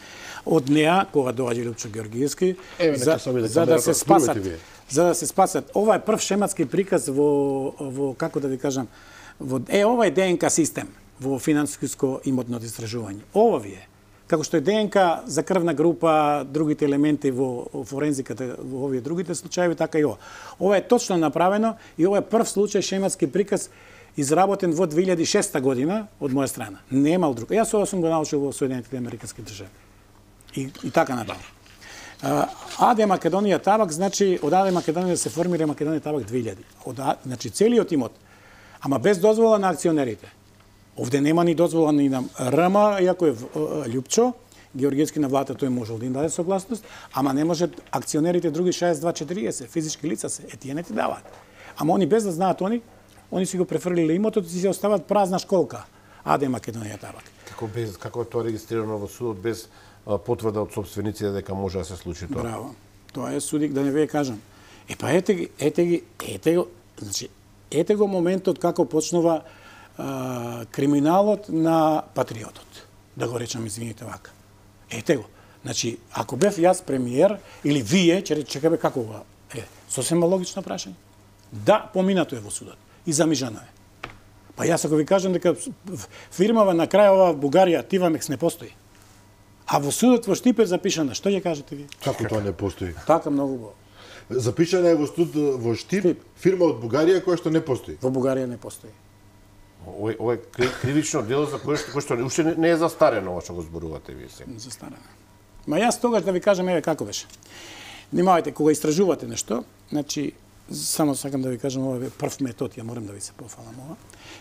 S2: Од неа, кога доаѓа Лјупчо Георгиевски,
S1: Еве,
S2: за,
S1: нека се обиде
S2: за да
S1: камерата,
S2: се спасат,
S1: спрувате вие.
S2: за да се спасат. Ова е прв шематски приказ во, во како да ви кажам, во е ова е ДНК систем во финансиско имотно истражување. Ова ви е. Како што е ДНК за крвна група, другите елементи во форензиката, во овие другите случаи, така и ова. Ова е точно направено и ова е прв случај шематски приказ изработен во две илјади и шеста година од моја страна. Немал друг. Јас ова сум го научил во Соединетите американски држави. И, и така натаму. Аде Македонија Табак, значи од Аде Македонија се формира Македонија Табак две илјади. Од, А- значи целиот имот, ама без дозвола на акционерите. Овде нема ни дозвола ни на РМ, иако е в- Лјупчо Георгиевски на владата, тој можел да им даде согласност, ама не може акционерите други шеесет два четириесет, физички лица се, е тие не ти даваат. Ама они без да знаат они, они си го префрлиле имотот и си остават празна школка. Аде Македонија Табак.
S3: Како без како е тоа регистрирано во судот без а, потврда од собствениците дека може да се случи тоа?
S2: Браво. Тоа е судик, да не вие кажам. Е па ете ги, ете ги, ете го, значи, ете го моментот како почнува а, криминалот на патриотот. Да го речам, извините вака. Ете го. Значи, ако бев јас премиер, или вие, че чекаме како ова, е, сосема логично прашање. Да, поминато е во судот. И замижано е. Па јас ако ви кажам дека фирмава на крај ова Бугарија, Тивамекс не постои. А во судот во Штип е запишана. Што ќе кажете ви?
S1: Како тоа не постои?
S2: Така многу убаво.
S1: Запишана е во студ во Штип,
S2: Штип.
S1: фирма од Бугарија која што не постои.
S2: Во Бугарија не постои.
S3: Ова ова е кри- кривично дело за кое што, кое што уште не, не е застарено ова што го зборувате вие сега.
S2: Застарана. Ма јас тогаш да ви кажам еве како беше. Внимавајте кога истражувате нешто, значи само сакам да ви кажам ова е прв метод, ја морам да ви се пофалам ова.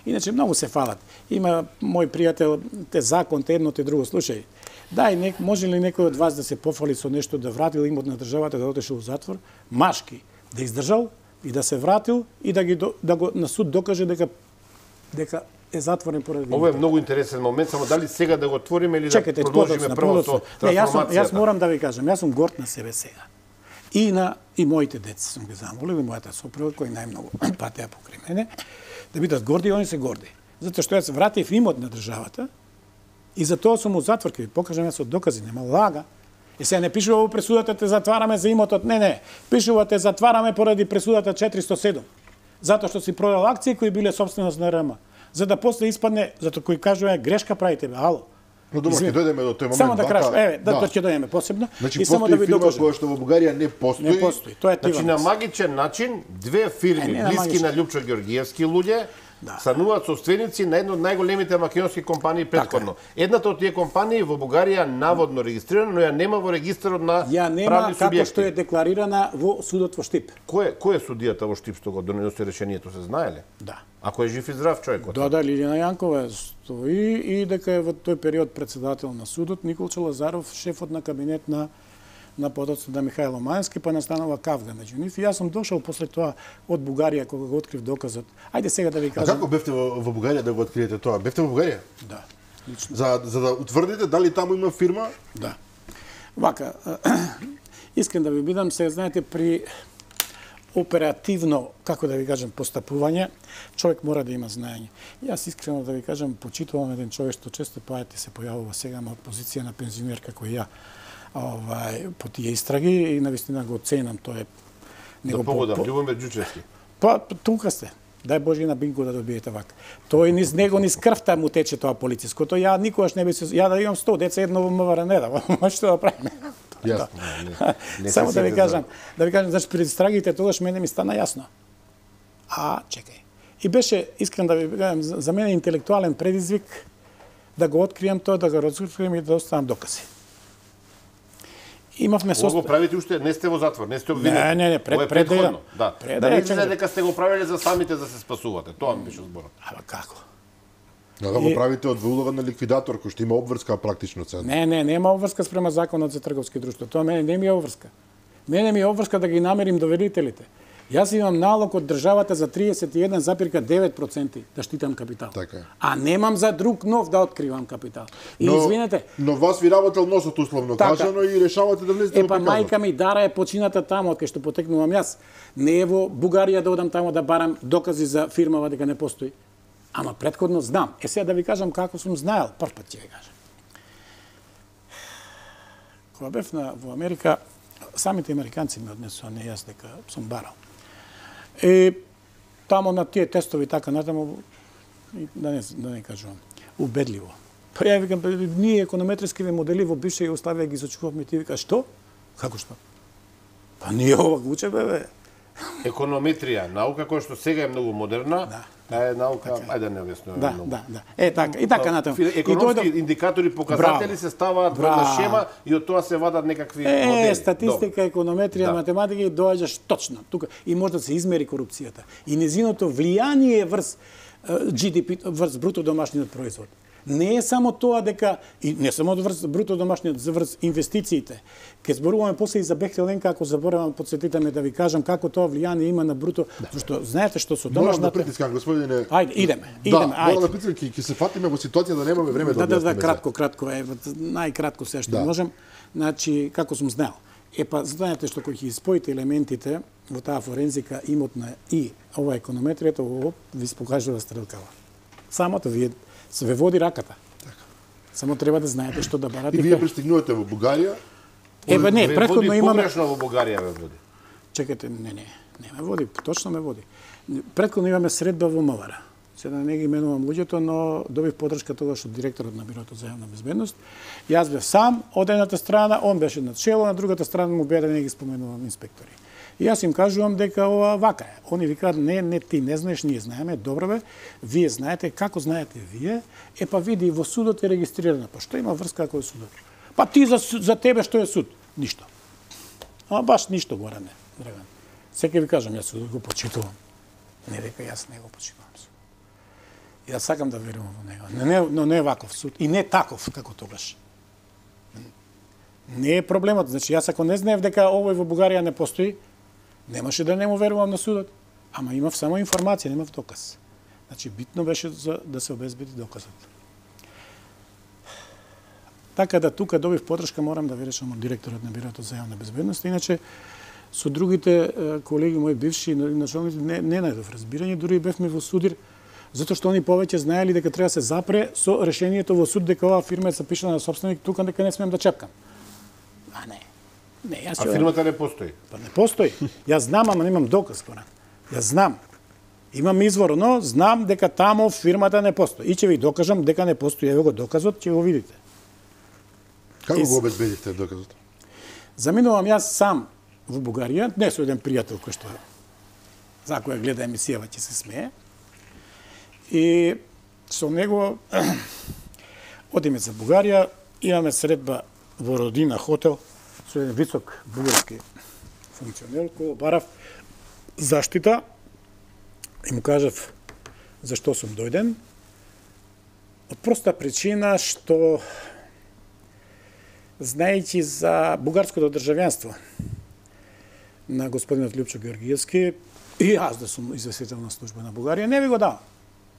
S2: Иначе многу се фалат. Има мој пријател, те закон, те едно, те друго. Слушај, дај, нек, може ли некој од вас да се пофали со нешто, да вратил имот на државата, да отишел во затвор, машки, да издржал и да се вратил и да ги до- да го на суд докаже дека дека е затворен поради
S3: Ова е
S2: имотот.
S3: многу интересен момент, само дали сега да го отвориме или
S2: Чекайте,
S3: да продолжиме
S2: подоцна,
S3: прво
S2: подоцна.
S3: со
S2: Не, јас, сум,
S3: трансформацијата.
S2: јас морам да ви кажам, јас сум горд на себе сега. И на и моите деца сум ги замолил, и мојата сопруга кој најмногу патеа покрај мене, да бидат горди и они се горди. Затоа што јас вратив имот на државата и за тоа сум у затвор, ќе ви покажам јас од докази, нема лага. И сега не пишува во пресудата те затвараме за имотот, не, не, пишува те затвараме поради пресудата четиристо седум. Затоа што си продал акции кои биле собственост на РМ. За да после испадне, затоа кој кажува грешка правите, бе, ало.
S1: Но добро, ќе
S2: Извини.
S1: дојдеме до тој момент.
S2: Само да
S1: вака,
S2: кажам, еве, да, да ќе дојдеме посебно.
S1: Значи,
S2: и само
S1: постои
S2: да ви
S1: фирма
S2: докажам.
S1: која што во Бугарија не постои.
S2: Не постои. Тоа е
S3: Значи на
S2: Тивамекс.
S3: магичен начин две
S2: Е,
S3: фирми
S2: не на
S3: блиски
S2: магичен.
S3: на Лјупчо Георгиевски луѓе
S2: Да.
S3: стануваат собственици на една од најголемите македонски компании претходно. Едната од тие компании во Бугарија наводно регистрирана, но ја нема во регистарот на
S2: Ја нема
S3: правни
S2: како
S3: субјекти.
S2: што е декларирана во судот во Штип.
S3: Кој кој е судијата во Штип што го доноси решението, се знае ли?
S2: Да.
S3: Ако е жив и здрав човекот.
S2: Да, да, Лилијана Јанкова стои и дека е во тој период председател на судот, Николче Лазаров, шефот на кабинет на на подоцна на Михајло Мајански, па настанува кавга меѓу нив. И јас сум дошол после тоа од Бугарија кога го открив доказот. Ајде сега да ви
S1: А
S2: кажам.
S1: како бевте во, во Бугарија да го откриете тоа? Бевте во Бугарија?
S2: Да. Лично.
S1: За, за да утврдите дали таму има фирма?
S2: Да. Вака, искрен да ви бидам, сега знаете при оперативно, како да ви кажам, постапување, човек мора да има знаење. Јас искрено да ви кажам, почитувам еден човек што често пајате се појавува сега на позиција на пензионер како и ја, овај, по тие истраги и навистина го ценам, тоа е
S3: Да погодам, Љубомир Ѓучевски.
S2: Па, тука сте. Дај Боже и на Бинко да добиете вака. Тој низ него низ крвта му тече тоа политичкото. Ја никогаш не би се ја да имам сто деца едно во МВР не да. Што да правиме?
S1: Јасно.
S3: Не, не се
S2: Само да ви
S3: сете
S2: кажам, да ви кажам, значи пред истрагите тогаш мене ми стана јасно. А, чекај. И беше искрен да ви кажам, за за мене интелектуален предизвик да го откријам тоа, да го разкријам и да оставам докази. Имавме
S3: Ова го
S2: состав.
S3: правите уште, не сте во затвор, не сте обвинети.
S2: Не, не, не, пред-
S3: Ова е
S2: пред да
S3: претходно.
S2: ја-
S3: Да.
S2: пред
S3: Да
S2: да
S3: не
S2: ја
S3: излезе
S2: чекам.
S3: дека сте го правеле за самите да се спасувате. Тоа ми беше зборот.
S2: Ама како?
S1: Да, да го правите од улога на ликвидатор, кој што има обврска практично цена.
S2: Не, не, нема обврска спрема законот за трговски друштва. Тоа мене не ми е обврска. Мене ми е обврска да ги намерим доверителите. Јас имам налог од државата за триесет и еден запирка девет проценти да штитам капитал.
S1: Така.
S2: А немам за друг нов да откривам капитал. И
S1: но,
S2: извинете.
S1: Но вас ви работел носот условно така, кажано и решавате да влезете во
S2: приказот. Епа мајка ми Дара е почината таму од кај што потекнувам јас. Не е во Бугарија да одам таму да барам докази за фирмава дека не постои. Ама претходно знам. Е сега да ви кажам како сум знаел, прв пат ќе ви кажам. Кога бев на, во Америка, самите американци ми однесоа, не јас дека сум барал. Е, тамо на тие тестови така натаму, да не, да не кажувам, убедливо. Па ја викам, ние економетрискиве модели во бивша Југославија ги изучувавме, ти вика, што? Како што? Па ние ова го учеме, бе.
S3: Економетрија, наука која што сега е многу модерна,
S2: да.
S3: Таа е наука, така. Ајде да не објаснуваме
S2: да,
S3: многу.
S2: Да, да, е така, и така натаму.
S3: Економски и индикатори, показатели браво, се ставаат во една шема и од тоа се вадат некакви
S2: е,
S3: модели.
S2: Е, статистика, Добре. економетрија, да. математика и доаѓаш точно тука и може да се измери корупцијата. И незиното влијание врз Джи Ди Пи, врз бруто домашниот производ. Не е само тоа дека, и не само врз бруто домашниот, врз инвестициите. Ке зборуваме после и за Бехтел Енка, ако заборавам, подсетите ме да ви кажам како тоа влијание има на бруто, да. Зашто знаете што со домашната...
S1: Морам да притискам, господине...
S2: Ајде, идеме, идеме,
S1: да, морам да притискам, ќе се фатиме во ситуација да немаме време да,
S2: да Да, да, кратко, кратко, е, најкратко се што да. можем. Значи, како сум знаел. Епа, знаете што кој ќе испоите елементите во таа форензика, имотна и ова економетријата, ово ви покажува стрелкава. Самото вие се ве води раката. Така. Само треба да знаете што да барате.
S1: И вие пристигнувате во Бугарија?
S2: Ебе не, претходно имаме
S3: погрешно во Бугарија ве води.
S2: Чекате, не, не, не ме води, точно ме води. Претходно имаме средба во Мовара. Сега не ги именувам луѓето, но добив поддршка тогаш од директорот на Бирото за јавна безбедност. Јас бев сам од едната страна, он беше на чело, на другата страна му беа да не ги споменувам инспектори. И јас им кажувам дека ова вака е. Они викаат, не, не, ти не знаеш, ние знаеме, добро бе, вие знаете, како знаете вие, е па види, во судот е регистрирано. Па што има врска ако е судот? Па ти за, за тебе што е суд? Ништо. Ама баш ништо, Горане, Драган. Секој ви кажам, јас судот го почитувам. Не дека јас не го почитувам суд. И да сакам да верувам во него. Но не, но не е ваков суд. И не таков, како тогаш. Не е проблемот. Значи, јас ако не знаев дека овој во Бугарија не постои, немаше да не му верувам на судот. Ама имав само информација, немав доказ. Значи, битно беше за да се обезбеди доказот. Така да тука добив поддршка, морам да ви речам од директорот на Бирото за јавна безбедност. Иначе, со другите колеги мои бивши началници не, не најдов разбирање, дури бевме во судир, затоа што они повеќе знаели дека треба да се запре со решението во суд дека оваа фирма е запишана на собственик, тука дека не смеем да чепкам. А не. Не, јас
S3: а фирмата не постои?
S2: Па не постои. Јас знам, ама немам доказ, Коран. Јас знам. Имам извор, но знам дека тамо фирмата не постои. И ќе ви докажам дека не постои. Ево го доказот, ќе го видите.
S1: Како го обезбедихте доказот?
S2: Заминувам јас сам во Бугарија, не со еден пријател кој што за која гледа емисијава ќе се смее. И со него одиме за Бугарија, имаме средба во Родина хотел со еден висок бугарски функционер кој барав заштита и му кажав зашто сум дојден. Од проста причина што знаејќи за бугарското државјанство на господинот Лјупчо Георгиевски и јас да сум известител на служба на Бугарија, не ви го давам.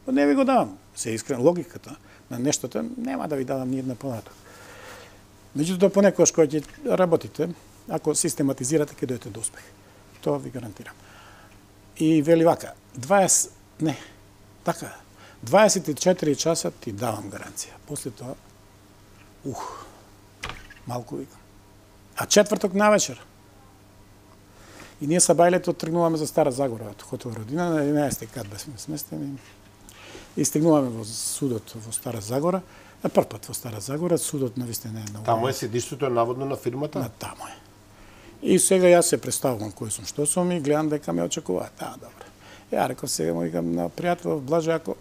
S2: Не ви го давам. Се искрен логиката на нештото нема да ви давам ни една понаток. Меѓутоа, понекогаш кога ќе работите, ако систематизирате, ќе дојдете до успех. Тоа ви гарантирам. И вели вака, дваесет, не, така, дваесет и четири часа ти давам гаранција. После тоа, ух, малку викам. А четврток навечер. И ние са бајлето тргнуваме за Стара Загора, од хотел Родина, на единаесети кат бевме сместени. И стигнуваме во судот во Стара Загора. На прв пат во Стара Загора, судот навистина е на...
S3: Таму е седиштето наводно на фирмата?
S2: На тамо е. И сега јас се представувам кој сум, што сум и гледам дека ме очекуваат. Да, добро. Ја реков сега му викам на пријател, Блаже, ако...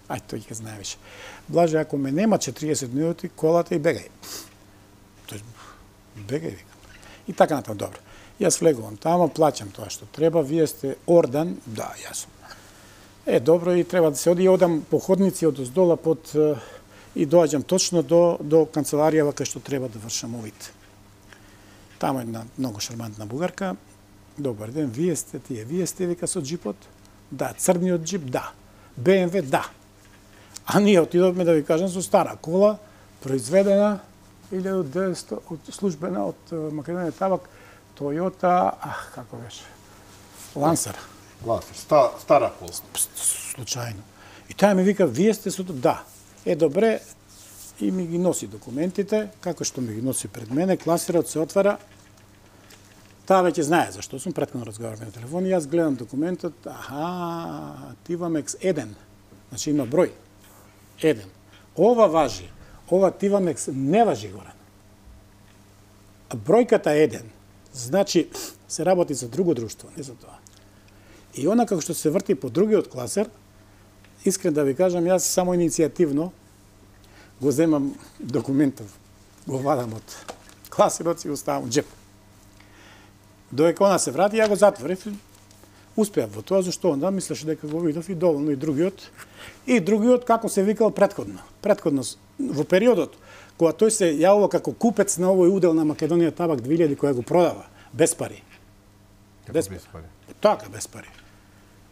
S2: Ај, тој ќе знае више. Блаже, ако ме нема четириесет минути, колата и бегај. Тој, бегај, викам. И така натаму, добро. Јас влегувам тамо, плаќам тоа што треба, вие сте ордан, да, јас сум. Е, добро, и треба да се оди, одам по ходници од оздола под и доаѓам точно до, до канцеларијава кај што треба да вршам овид. Тамо една многу шармантна бугарка. Добар ден, вие сте тие, вие сте вика со джипот? Да, црниот джип, да. Бе Ем Ве, да. А ние отидовме, да ви кажам, со стара кола, произведена илјада и деветстотини од службена од Македонија Табак, Toyota, ах, како беше? Лансер.
S3: Лансер, ста, стара кола.
S2: Случајно. И таа ми вика, вие сте со... Да. Е, добре, и ми ги носи документите, како што ми ги носи пред мене, класирот се отвара. Таа веќе знае зашто сум, претходно разговараме на телефон, и јас гледам документот, аха, Тивамекс еден, значи има број, еден. Ова важи, ова Тивамекс не важи горе. А бројката еден, значи се работи за друго друштво, не за тоа. И она како што се врти по другиот класер, искрен да ви кажам, јас само иницијативно го земам документов, го вадам од класерот и го ставам джеп. Додека она се врати, ја го затворив, успеав во тоа, зашто онда мислеше дека го видов и доволно и другиот. И другиот, како се викал предходно. Предходно, во периодот, кога тој се јавува како купец на овој удел на Македонија Табак две илјади, која го продава, без пари.
S3: Без, без пари.
S2: Така, без пари.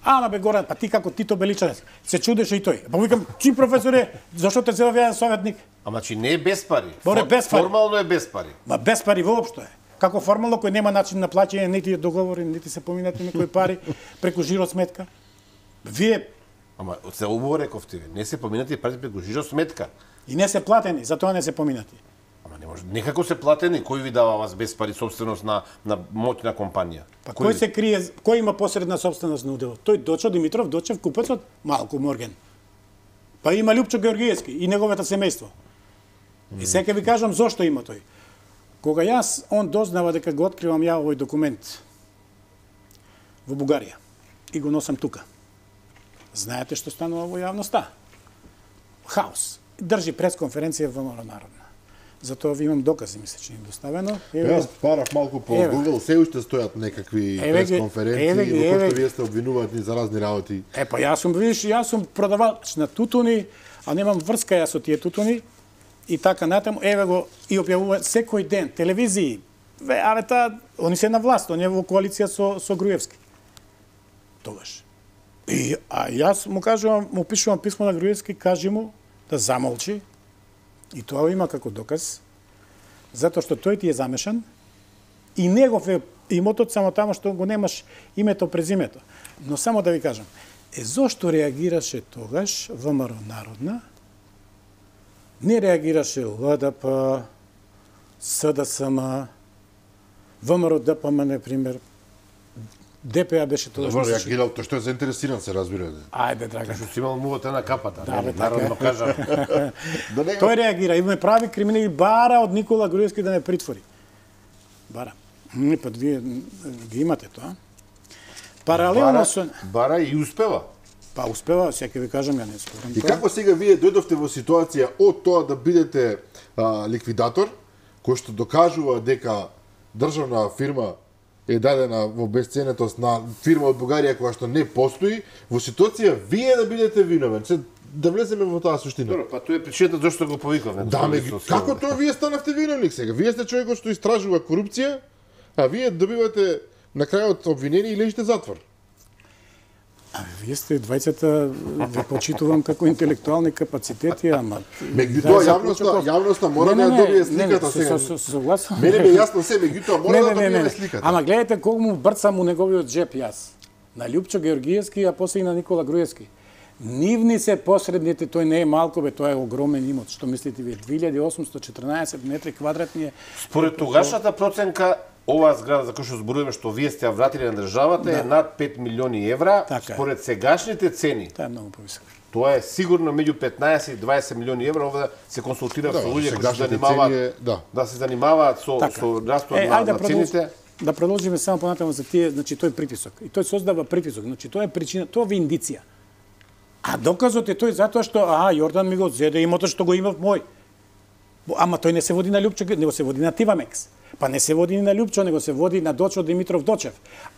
S2: Ама бе Горан, па ти како Тито Беличанец, се чудеше и тој. Па викам, чи професоре, зашто те се јавен советник?
S3: Ама чи не е без пари.
S2: Боре, без пари.
S3: Формално е без пари.
S2: Ма без пари воопшто е. Како формално кој нема начин на плаќање, нити е договорен, нити се поминати некои пари преку жиро сметка. Вие
S3: Ама се убаво рековте, не се поминати пари преку жиро сметка.
S2: И не се платени, затоа не се поминати.
S3: Ама не може. Некако се платени, кој ви дава вас без пари собственост на на моќна компанија?
S2: Па кој, кој се крие, кој има посредна собственост на уделот? Тој Дочо Димитров, Дочев, купецот, Малку Морген. Па има Лјупчо Георгиевски и неговото семејство. И сега ви кажам зошто има тој. Кога јас, он дознава дека го откривам ја овој документ во Бугарија и го носам тука. Знаете што станува во јавноста? Хаос. Држи пресконференција во ВМРО Народна. Затоа ви имам докази, ми се чини доставено.
S1: Јас парав малку по Google, се уште стојат некакви пресконференции во кои што вие сте обвинувани за разни работи.
S2: Е, па јас сум, видиш, јас сум продавач на тутуни, а немам врска јас со тие тутуни. И така натаму, еве го и објавува секој ден телевизии. Ве, аве таа, они се на власт, они во коалиција со со Груевски. Тогаш. И а јас му кажувам, му пишувам писмо на Груевски, кажи му да замолчи. И тоа има како доказ, затоа што тој ти е замешан и негов е имотот само тамо што го немаш името презимето. Но само да ви кажам, е зошто реагираше тогаш ВМРО Народна? Не реагираше Л Д П, С Д С М, ВМРО Д П М, например, Д П А беше тоа
S1: што се реагирал, тоа што е заинтересиран, се разбира.
S2: Ајде, драга.
S3: Што си имал мувата на капата,
S2: да, бе,
S3: народно кажам.
S2: Тој реагира, и ме прави криминал, бара од Никола Груевски да ме притвори. Бара. Не, па вие ги имате тоа. Паралелно со...
S3: Бара и успева.
S2: Па успева, сега ви кажам, ја не спорам.
S1: И како сега вие дојдовте во ситуација од тоа да бидете а, ликвидатор, кој што докажува дека државна фирма е дадена во бесценетост на фирма од Бугарија која што не постои, во ситуација вие да бидете виновен. Се, да влеземе во таа суштина.
S3: Добро, па тоа е причината зашто го повикавме.
S1: Да, ме, како тоа вие станавте виновник сега? Вие сте човекот што истражува корупција, а вие добивате на крајот обвинение и лежите затвор.
S2: А вие сте двајцата, ве почитувам како интелектуални капацитети, ама...
S1: Меѓутоа, јавноста, јавноста мора да ја добие сликата сега.
S2: Согласен.
S1: Мене ме јасно се, меѓутоа мора да добие сликата.
S2: Ама гледате колку му брцам у неговиот джеп јас. На Лјупчо Георгиевски, а после и на Никола Груевски. Нивни се посредните, тој не е малко, бе, тоа е огромен имот. Што мислите вие? две илјади осумсто четрнаесет метри квадратни е.
S3: Според тогашната проценка, оваа зграда за која што зборуваме што вие сте ја вратили на државата да. Е над пет милиони евра, така според е. Сегашните цени.
S2: Тоа е многу повисоко.
S3: Тоа е сигурно меѓу петнаесет и дваесет милиони евра, ова се консултира
S1: да,
S3: со луѓе кои се занимаваат е, да. Да се занимаваат со така. Со растот е, на, на цените.
S2: Да продолжиме само понатаму за тие, значи тој притисок. И тој создава притисок, значи тоа е причина, тоа е индиција. А доказот е тој затоа што а Јордан ми го зеде имотот што го имав мој. Ама тој не се води на Лјупчо, него се води на Тивамекс. Па не се води ни на Лјупчо, него се води на Дочо Димитров Дочев.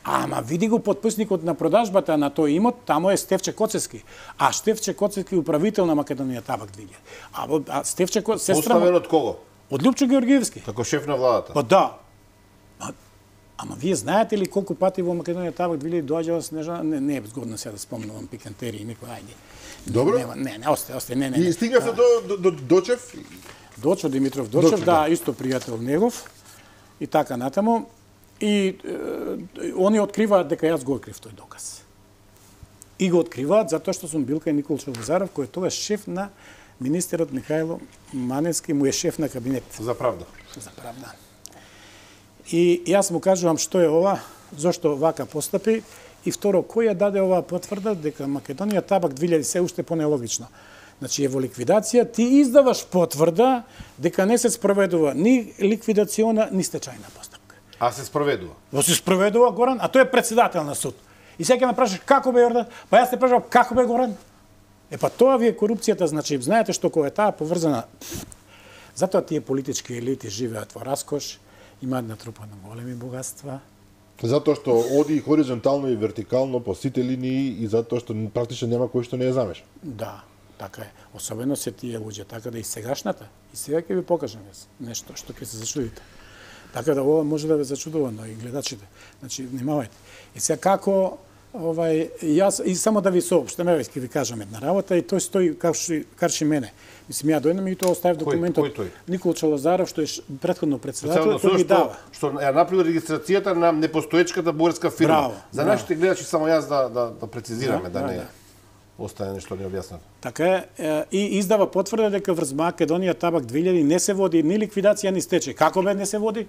S2: Ама види го подписникот на продажбата на тој имот, тамо е Стефче Коцевски. А Стефче Коцевски управител на Македонија Табак двилјади. А, а Стефче Коцевски
S3: Поставен од кого?
S2: Од Лјупчо Георгиевски.
S3: Како шеф на владата.
S2: Па да. А, ама вие знаете ли колку пати во Македонија Табак двилјади доаѓала Снежана? Не, не е згодно сега да спомнувам пикантерии, некој ајде.
S1: Добро.
S2: Не, не, не, осте, осте, не, не.
S1: И стигнавте до, до, до Дочев?
S2: Дочо Димитров Дочев,
S1: Дочев,
S2: да,
S1: да.
S2: исто пријател негов. И така натаму. И е, они откриваат дека јас го открив тој доказ. И го откриваат затоа што сум бил кај Никол Челозаров, кој е тогаш шеф на министерот Михајло Маневски, му е шеф на кабинет.
S3: За правда.
S2: За правда. И јас му кажувам што е ова, зошто вака постапи, и второ, кој ја даде оваа потврда дека Македонија Табак двилјади се уште понелогично. Значи е во ликвидација, ти издаваш потврда дека не се спроведува ни ликвидациона, ни стечајна постапка.
S3: А се спроведува?
S2: Во се спроведува Горан, а тој е председател на суд. И сега ме прашаш како бе Јордан? Па јас те прашувам како бе Горан? Е па тоа ви е корупцијата, значи знаете што кога е таа поврзана. Затоа тие политички елити живеат во раскош, имаат натрупано големи богатства.
S1: Затоа што оди хоризонтално и вертикално по сите линии и затоа што практично нема кој што не ја замеша.
S2: Да, така е. Особено се тие луѓе, така да и сегашната. И сега ќе ви покажам јас нешто што ќе се зачудите. Така да ова може да ве зачудува, но и гледачите. Значи, внимавајте. И сега како овај јас и само да ви соопштам, еве ќе ви кажам една работа и тој стои карши карши мене. Мислим ја дојдам и тоа оставив документот.
S3: Кој, кој тој?
S2: Никол Челозаров што е претходно председател,
S3: Председател
S2: тој ми дава.
S3: Што ја направи регистрацијата на непостоечката бугарска фирма.
S2: Браво,
S3: За
S2: браво.
S3: нашите гледачи само јас да да, да прецизираме, да,
S2: Да,
S3: да
S2: да,
S3: не остане нешто необјаснато.
S2: Така е, е, и издава потврда дека врз Македонија Табак двилјади не се води ни ликвидација ни стечај. Како бе не се води?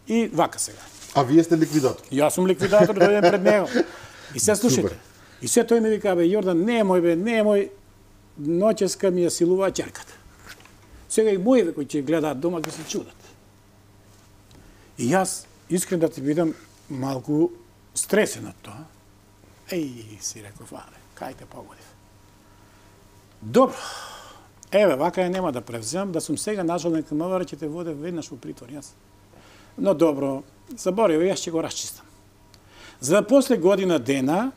S2: И вака сега.
S1: А вие сте ликвидатор.
S2: Јас сум ликвидатор, дојдем пред него. И се слушайте.
S1: Супер.
S2: И се тој ми вика, бе, Јордан, не е мој, бе, не е мој, ноќеска ми ја силува ќерката. Сега и моје кои ќе гледаат дома ќе се чудат. И јас, искрен да ти бидам, малку стресен од тоа. Еј, си реков, абе, кај те погодив. Добро. Еве, вака ја нема да превземам, да сум сега началник на МВР, ќе те воде веднаш во притвор, јас. Но добро, заборев, јас ќе го расчистам. За да после година дена,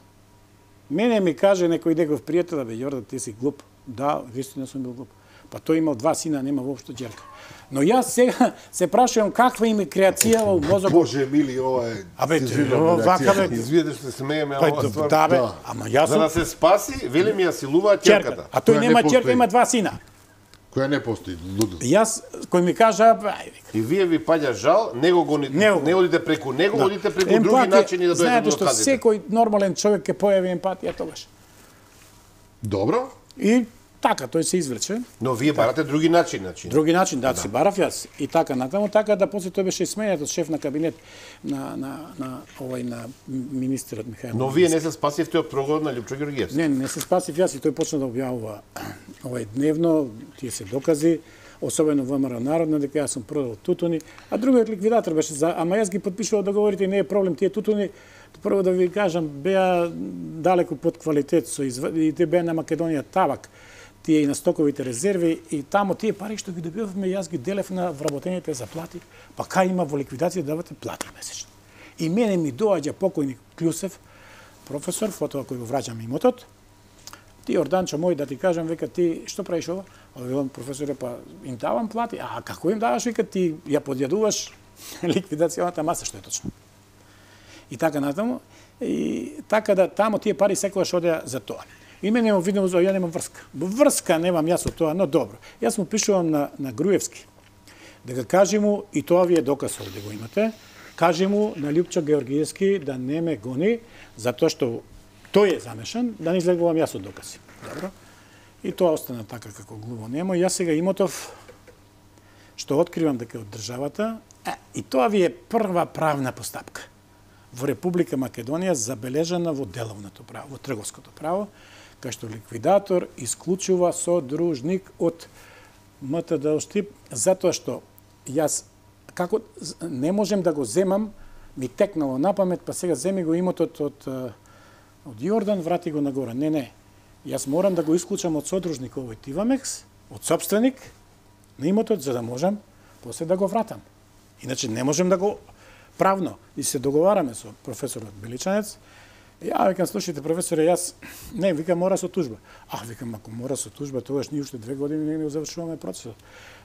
S2: мене ми каже некој негов пријател, бе, Јордан, ти си глуп. Да, вистина сум бил глуп. Па тој имал два сина, нема воопшто џерка. Но јас сега се прашувам каква им е креација во мозокот.
S1: Боже мили, ова е...
S2: Абе,
S1: цензурна
S2: ова, вака,
S1: реакција.
S2: бе,
S3: Извиете што се смееме,
S2: Па,
S3: ова ствар.
S2: да, бе,
S1: Да.
S2: ама јас
S3: За
S2: сум
S3: да се спаси, вели ми ја силуваат
S2: ќерката.
S3: ќерката.
S2: А тој
S1: Која не
S2: нема ќерка,
S1: постои.
S2: има два сина.
S1: Која не постои, лудо.
S2: Јас, кој ми кажа, ај, вика,
S3: И вие ви паѓа жал, него го не,
S2: Него.
S3: не одите преку него, одите преку други
S2: емпатија,
S3: начини да дојдете
S2: знаете
S3: до
S2: што
S3: доказите.
S2: секој нормален човек ќе појави емпатија тогаш.
S1: Добро.
S2: И така, тој се извлече.
S3: Но вие барате други начини, значи.
S2: Други начин, да, си барав јас. И така натаму, така да после тој беше сменет од шеф на кабинет на, на, на, овај, на министерот Михајло.
S3: Но вие не се спасивте од прогонот на Лјупчо Георгиевски.
S2: Не, не се спасив јас и тој почна да објавува овај дневно, тие се докази, особено ВМРО Народна, дека јас сум продал тутуни, а другиот ликвидатор беше за, ама јас ги подпишував договорите, не е проблем, тие тутуни, прво да ви кажам, беа далеку под квалитет, со изв... и те беа на Македонија Табак, тие и на стоковите резерви, и тамо тие пари што ги добивавме, јас ги делев на вработените заплати, па кај има во ликвидација да давате плати месечно. И мене ми доаѓа покојник Клюсев, професор, фотова кој го враќам имотот, ти Орданчо мој да ти кажам, века ти што правиш ова? А велам професоре, па им давам плати. А како им даваш, века ти ја подјадуваш ликвидационата маса, што е точно. И така натаму, и така да тамо тие пари секогаш одеа за тоа. И мене во видно ја немам врска. Врска немам јас од тоа, но добро. Јас му пишувам на на Груевски. Дека кажи му, и тоа ви е доказ овде го имате, кажи му на Лјупчо Георгиевски да не ме гони, затоа што тој е замешан, да не излегувам јас од докази. Добро? И тоа остана така како глуво немо. Јас сега имотов, што откривам дека од државата, е, и тоа ви е прва правна постапка во Република Македонија забележана во деловното право, во трговското право, кај што ликвидатор исклучува содружник од МТД Штип, затоа што јас како не можем да го земам, ми текнало на памет, па сега земи го имотот од од Јордан, врати го нагоре. Не, не. Јас морам да го исклучам од содружник овој Тивамекс, од собственик на имотот, за да можам после да го вратам. Иначе не можем да го правно. И се договараме со професорот Беличанец. Ја викам, слушайте, професоре, јас не, викам, мора со тужба. А, викам, ако мора со тужба, тогаш ние уште две години не го завршуваме процесот.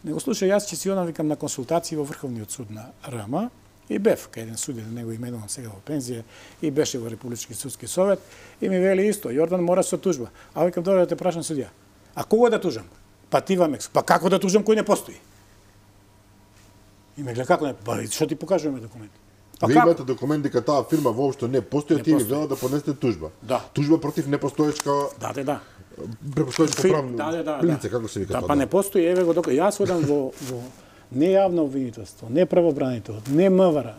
S2: Него слушај, јас ќе си одам, викам, на консултации во Врховниот суд на РМ и бев, кај еден судија, да него именувам сега во пензија, и беше во Републички судски совет, и ми вели исто, Јордан мора со тужба. А викам, добре, да те прашам судија, а кого да тужам? Па ти Вамекс, па како да тужам кој не постои? И ме гледа, како не, па што ти покажуваме документи?
S1: Па ви имате документ дека таа фирма воопшто не постои, а ти ви велат да поднесете тужба.
S2: Да.
S1: Тужба против непостоечка.
S2: Да, да, да.
S1: Препостоечко правно.
S2: Да, да, да.
S1: Лице, како се вика
S2: да,
S1: тоа?
S2: Па не постои, еве го дока. Јас одам во во не јавно обвинителство, не правобранител, не МВР.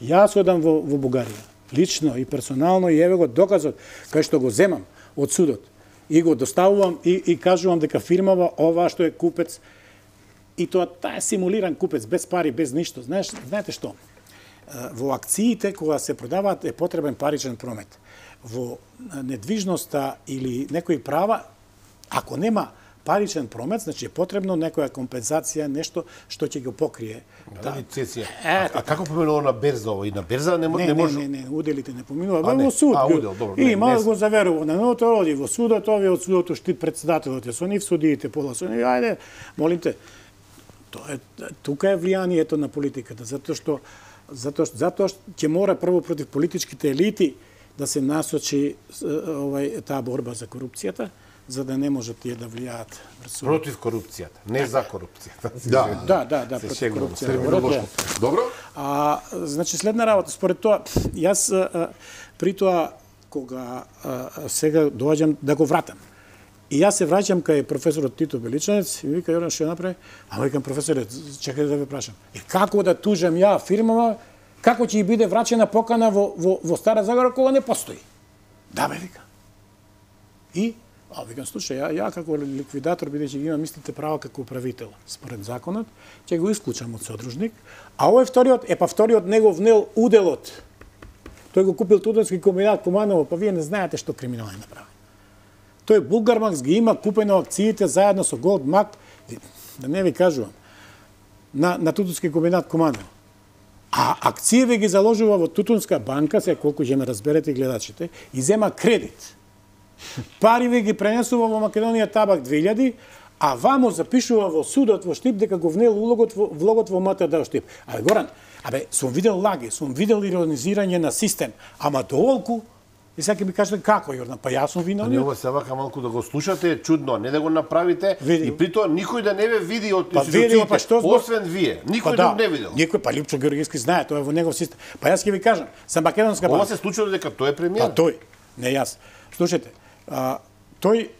S2: Јас одам во во Бугарија, лично и персонално, и еве го доказот кај што го земам од судот и го доставувам и и кажувам дека фирмава ова што е купец, и тоа таа е симулиран купец без пари, без ништо. Знаеш, знаете што? Во акциите, кога се продаваат, е потребен паричен промет. Во недвижноста или некои права, ако нема паричен промет, значи е потребно некоја компензација, нешто што ќе го покрие.
S3: Да, лицензија. А, а како поминува на берза ова? И на берза не,
S2: не,
S3: не може...
S2: Не, не, не, уделите не поминува.
S3: А, не.
S2: Во суд.
S3: А, удел, добро.
S2: И
S3: не,
S2: има
S3: не...
S2: го заверува на ното роди во судот, овие од судот штит председателот, со нив судиите пола со нив. Ајде, молим те. Тоа е, тука е влијанието на политиката, затоа што затоа што затоа што ќе мора прво против политичките елити да се насочи овај таа борба за корупцијата, за да не можат тие да влијаат врз
S3: против корупцијата, не за корупцијата.
S1: Да,
S2: да, да, да, против корупцијата.
S1: Добро.
S2: А значи следна работа, според тоа, јас а, при тоа кога а, сега доаѓам да го вратам. И јас се враќам кај професорот Тито Беличанец и ми вика, Јордан, што направи? А викам, професоре, чекај да ве прашам. И како да тужам ја фирмава, како ќе биде враќена покана во, во, во Стара Загора кога не постои? Да, бе, вика. И, а викам, слушај, ја, ја како ликвидатор, бидејќи ги имам истите права како управител, според законот, ќе го исклучам од содружник, а овој вториот, е па вториот него внел уделот. Тој го купил Тутунски комбинат Куманово, па вие не знаете што криминал е направи. Тој Булгармакс ги има купено акциите заедно со Голдмак, да не ви кажувам, на, на Тутунски комбинат Куманово. А акциите ги заложува во Тутунска банка, се колку ќе ме разберете гледачите, и зема кредит. Пари ви ги пренесува во Македонија Табак две илјади, а вамо запишува во судот во Штип дека го внел улогот во, влогот во МТД Штип. Абе, Горан, абе, сум видел лаги, сум видел иронизирање на систем, ама доволку. И сега ми кажете како, Јордан, па јас сум виновник.
S3: Ова се вака малку да го слушате е чудно, не да го направите
S2: види.
S3: И при тоа никој да не ве види од
S2: па
S3: институциите,
S2: па што збор...
S3: освен вие. Никој
S2: па
S3: да
S2: да
S3: не видел.
S2: Никој, па Липчо Георгиевски знае, тоа е во негов систем. Па јас ќе ви кажам, за Македонска банка.
S3: Ова се случило дека тој е премиер.
S2: Па тој, не јас. Слушайте, а, тој,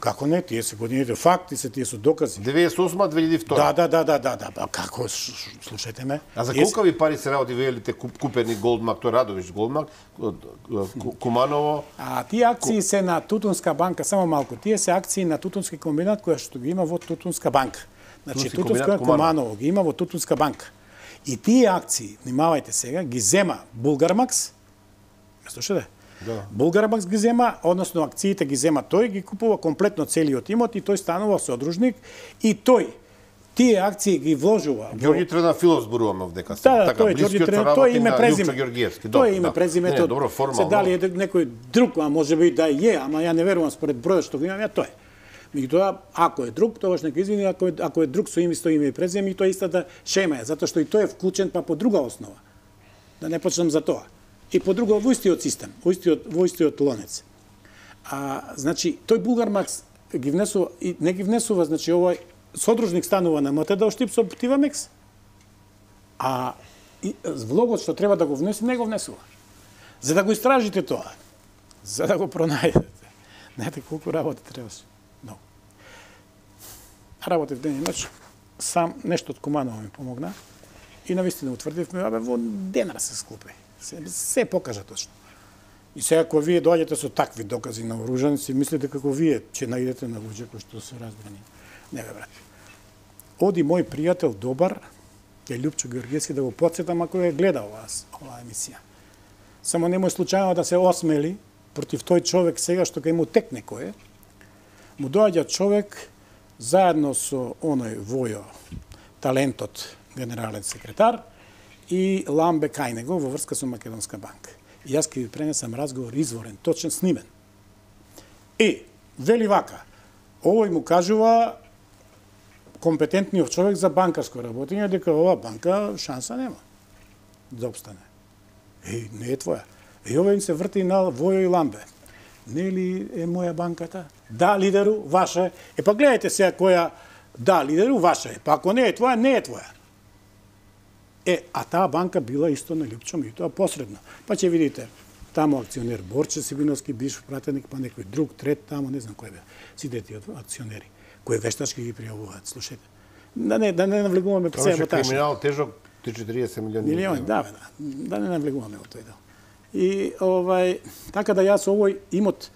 S2: како не, тие се годините факти, се тие се докази.
S3: деветдесет и осма две илјади и втора.
S2: Да, да, да, да, да, да, како, слушајте ме.
S3: А за колку ви пари се работи велите купени Голдмак, тој Радович Голдмак, Куманово?
S2: А тие акции се на Тутунска банка, само малку, тие се акции на Тутунски комбинат која што ги има во Тутунска банка. Значи Тутунска Куманово ги има во Тутунска банка. И тие акции, внимавајте сега, ги зема Булгармакс. Ме слушате?
S3: Да.
S2: Булгармакс ги зема, односно акциите ги зема тој, ги купува комплетно целиот имот и тој станува содружник и тој тие акции ги вложува.
S3: Ѓорѓи Трендафилов зборуваме овдека.
S2: Да, да, тој Ѓорѓи Трендафилов, тој име презиме. Тој име презимето.
S3: Не, добро, формално.
S2: Се дали е некој друг, а може би да е, ама ја не верувам според бројот што го имам ја, тоа е. Меѓутоа, ако е друг, тогаш нека извини, ако е, ако е друг со име, со име и презиме, и тоа истата шема е, затоа што и тој е вклучен па по друга основа. Да не почнам за тоа. И по друго во истиот систем, во истиот, во истиот лонец. А, значи, тој Булгармакс ги внесува, и не ги внесува, значи, овој содружник станува на МТД Штип со Тивамекс, а и, влогот што треба да го внесе, не го внесува. За да го истражите тоа, за да го пронајдете. Знаете колку работа требаше? Много. Работев ден и ноќ, сам нешто од Куманово ми помогна и навистина утврдивме, абе, во денар се склопи. Се, се покажа точно. И сега, ако вие доаѓате со такви докази на оружани, си мислите како вие ќе наидете на луѓе кои што се разбрани. Не бе, брат. Оди мој пријател добар, е Лјупчо Георгиевски, да го подсетам ако е гледал вас, оваа емисија. Само немој случајно да се осмели против тој човек сега што кај му текне кој е. Му доаѓа човек заедно со оној Војо, талентот генерален секретар, и Ламбе кај него во врска со Македонска банка. И јас ќе ви пренесам разговор изворен, точен, снимен. И, вели вака, овој му кажува компетентниот човек за банкарско работење, дека ова банка шанса нема да обстане. Е, не е твоја. И овој се врти на Војо и Ламбе. Не ли е моја банката? Да, лидеру, ваша е. Е, па гледайте сега која, да, лидеру, ваша е. Па ако не е твоја, не е твоја. Е, а таа банка била исто на Лјупчо Митоа посредно. Па ќе видите, тамо акционер Борче Сибиновски, бивш пратеник, па некој друг, трет, тамо, не знам кој бе, сите тие акционери, кои вештачки ги пријавуваат, слушајте. Да не, да не навлегуваме по себе таа.
S3: Криминал тежок триесет милиони.
S2: Милиони, да, бе, да. Да не навлегуваме во тој дел. И, овај, така да јас овој имот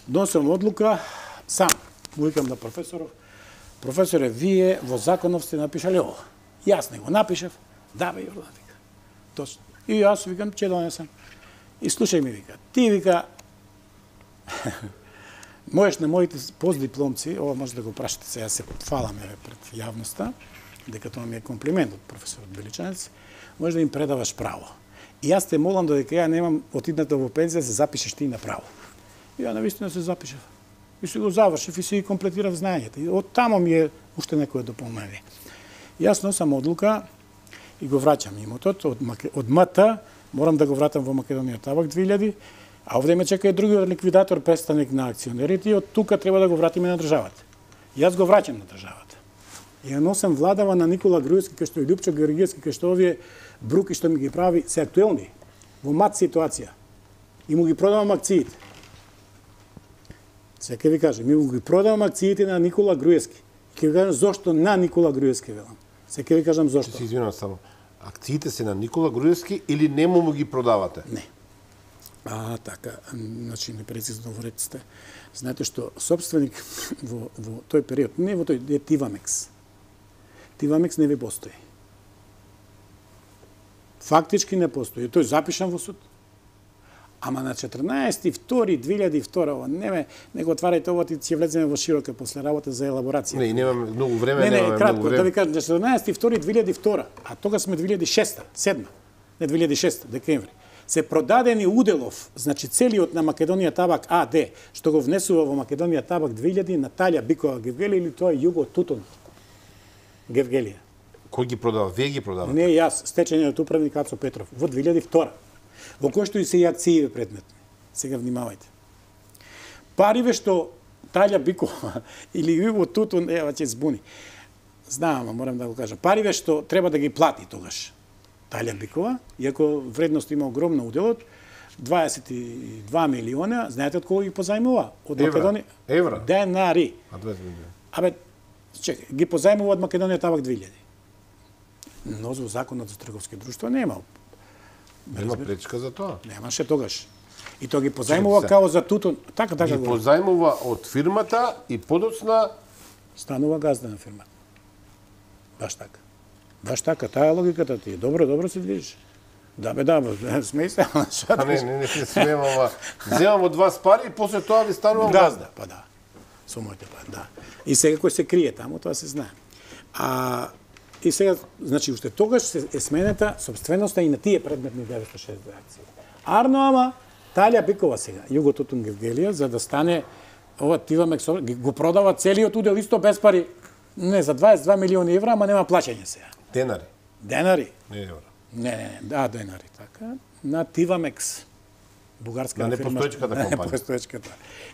S2: донесам одлука, сам, му викам на професоров, професоре, вие во законов сте напишале ово. Јас не го напишав, да бе, Јордан, вика. Точно. И јас викам, ќе донесам. И слушај ми, вика, ти, вика, можеш на моите постдипломци, ова може да го прашате сега, се фаламе пред јавноста, дека тоа ми е комплимент од професорот Беличанец, може да им предаваш право. И јас те молам додека ја немам отидната во пензија, се запишеш ти на право. И ја навистина се запишав. И си го завршив и си ги комплетирав знаењата. И од тамо ми е уште некоја дополнение. Јас носам одлука и го враќам имотот од, од МТ, морам да го вратам во Македонија Табак две илјади, а овде ме чека и другиот ликвидатор, представник на акционерите, и од тука треба да го вратиме на државата. Јас го враќам на државата. И ја носам владава на Никола Груевски, кај што и Лјупчо Георгиевски, кај што овие бруки што ми ги прави се актуелни, во мат ситуација. И му ги продавам акциите. Сега ќе ви кажем, ми му ги продавам акциите на Никола Груевски. Ќе ви кажам зошто на Никола Груевски, велам. Сега ќе ви кажам зошто.
S3: Се извинувам само. Акциите се на Никола Груевски или не му ги продавате?
S2: Не. А, така, значи непрецизно во реците. Знаете што, собственик во, во тој период, не во тој, е Тивамекс. Тивамекс не ви постои. Фактички не постои. Тој запишан во суд. Ама на четрнаесети втори две илјади и втора, не ме, не го отварајте ово, ќе влеземе во широка после работа за елаборација.
S3: Не, немаме многу време,
S2: не, не,
S3: немаме
S2: кратко,
S3: многу време.
S2: Да ви кажам, на четрнаесети втори две илјади и втора, а тога сме две илјади и шеста, седма, не две илјади и шеста, декември. Се продадени уделов, значи целиот на Македонија Табак АД, што го внесува во Македонија Табак две илјади, Наталја Бикова Гевгелија или тоа е Југо Тутун Гевгелија.
S3: Кој ги продава? Вие ги продавате?
S2: Не јас, стечениот управник Ацо Петров, во две илјади и втора. Во кој што и се и акциите предметни. Сега внимавајте. Париве што Талја Бикова или Југо Тутун, ева ќе збуни. Знам, морам да го кажам. Париве што треба да ги плати тогаш Талја Бикова, иако вредност има огромна уделот, дваесет и два милиона, знаете од кого ги позајмува? Од Македонија.
S3: Евра?
S2: Денари.
S3: А дваесет милиона.
S2: Абе, чекај, ги позајмува од Македонија Табак две илјади. Но за законот за трговски друштва нема.
S3: Нема пречка за тоа.
S2: Немаше тогаш. И тоа ги позајмува као за Тутун. Така, така
S3: ги позајмува од фирмата и подоцна
S2: станува газда на фирмата. Баш така. Баш така, таа логиката ти е. Добро, добро се движиш. Да бе, да, бе, смеј се, ама
S3: А не, не, не се смеем, ама земам од вас пари и после тоа ви станувам газда.
S2: Па да, со моите пари, да. И сега кој се крие таму, тоа се знае. А и сега, значи, уште тогаш се е сменета собственоста и на тие предметни деветстотини и шесдесет акции. Арно, ама, Талја Бикова сега, Југо Тутун Гевгелија, за да стане ова Тивамекс, го продава целиот удел исто без пари, не, за дваесет и два милиони евра, ама нема плаќање сега.
S3: Денари?
S2: Денари?
S3: Не евра.
S2: Не, не, не, да, денари, така. На Тивамекс, бугарска
S3: на
S2: фирма.
S3: непостоечката компанија.
S2: На непостоечката.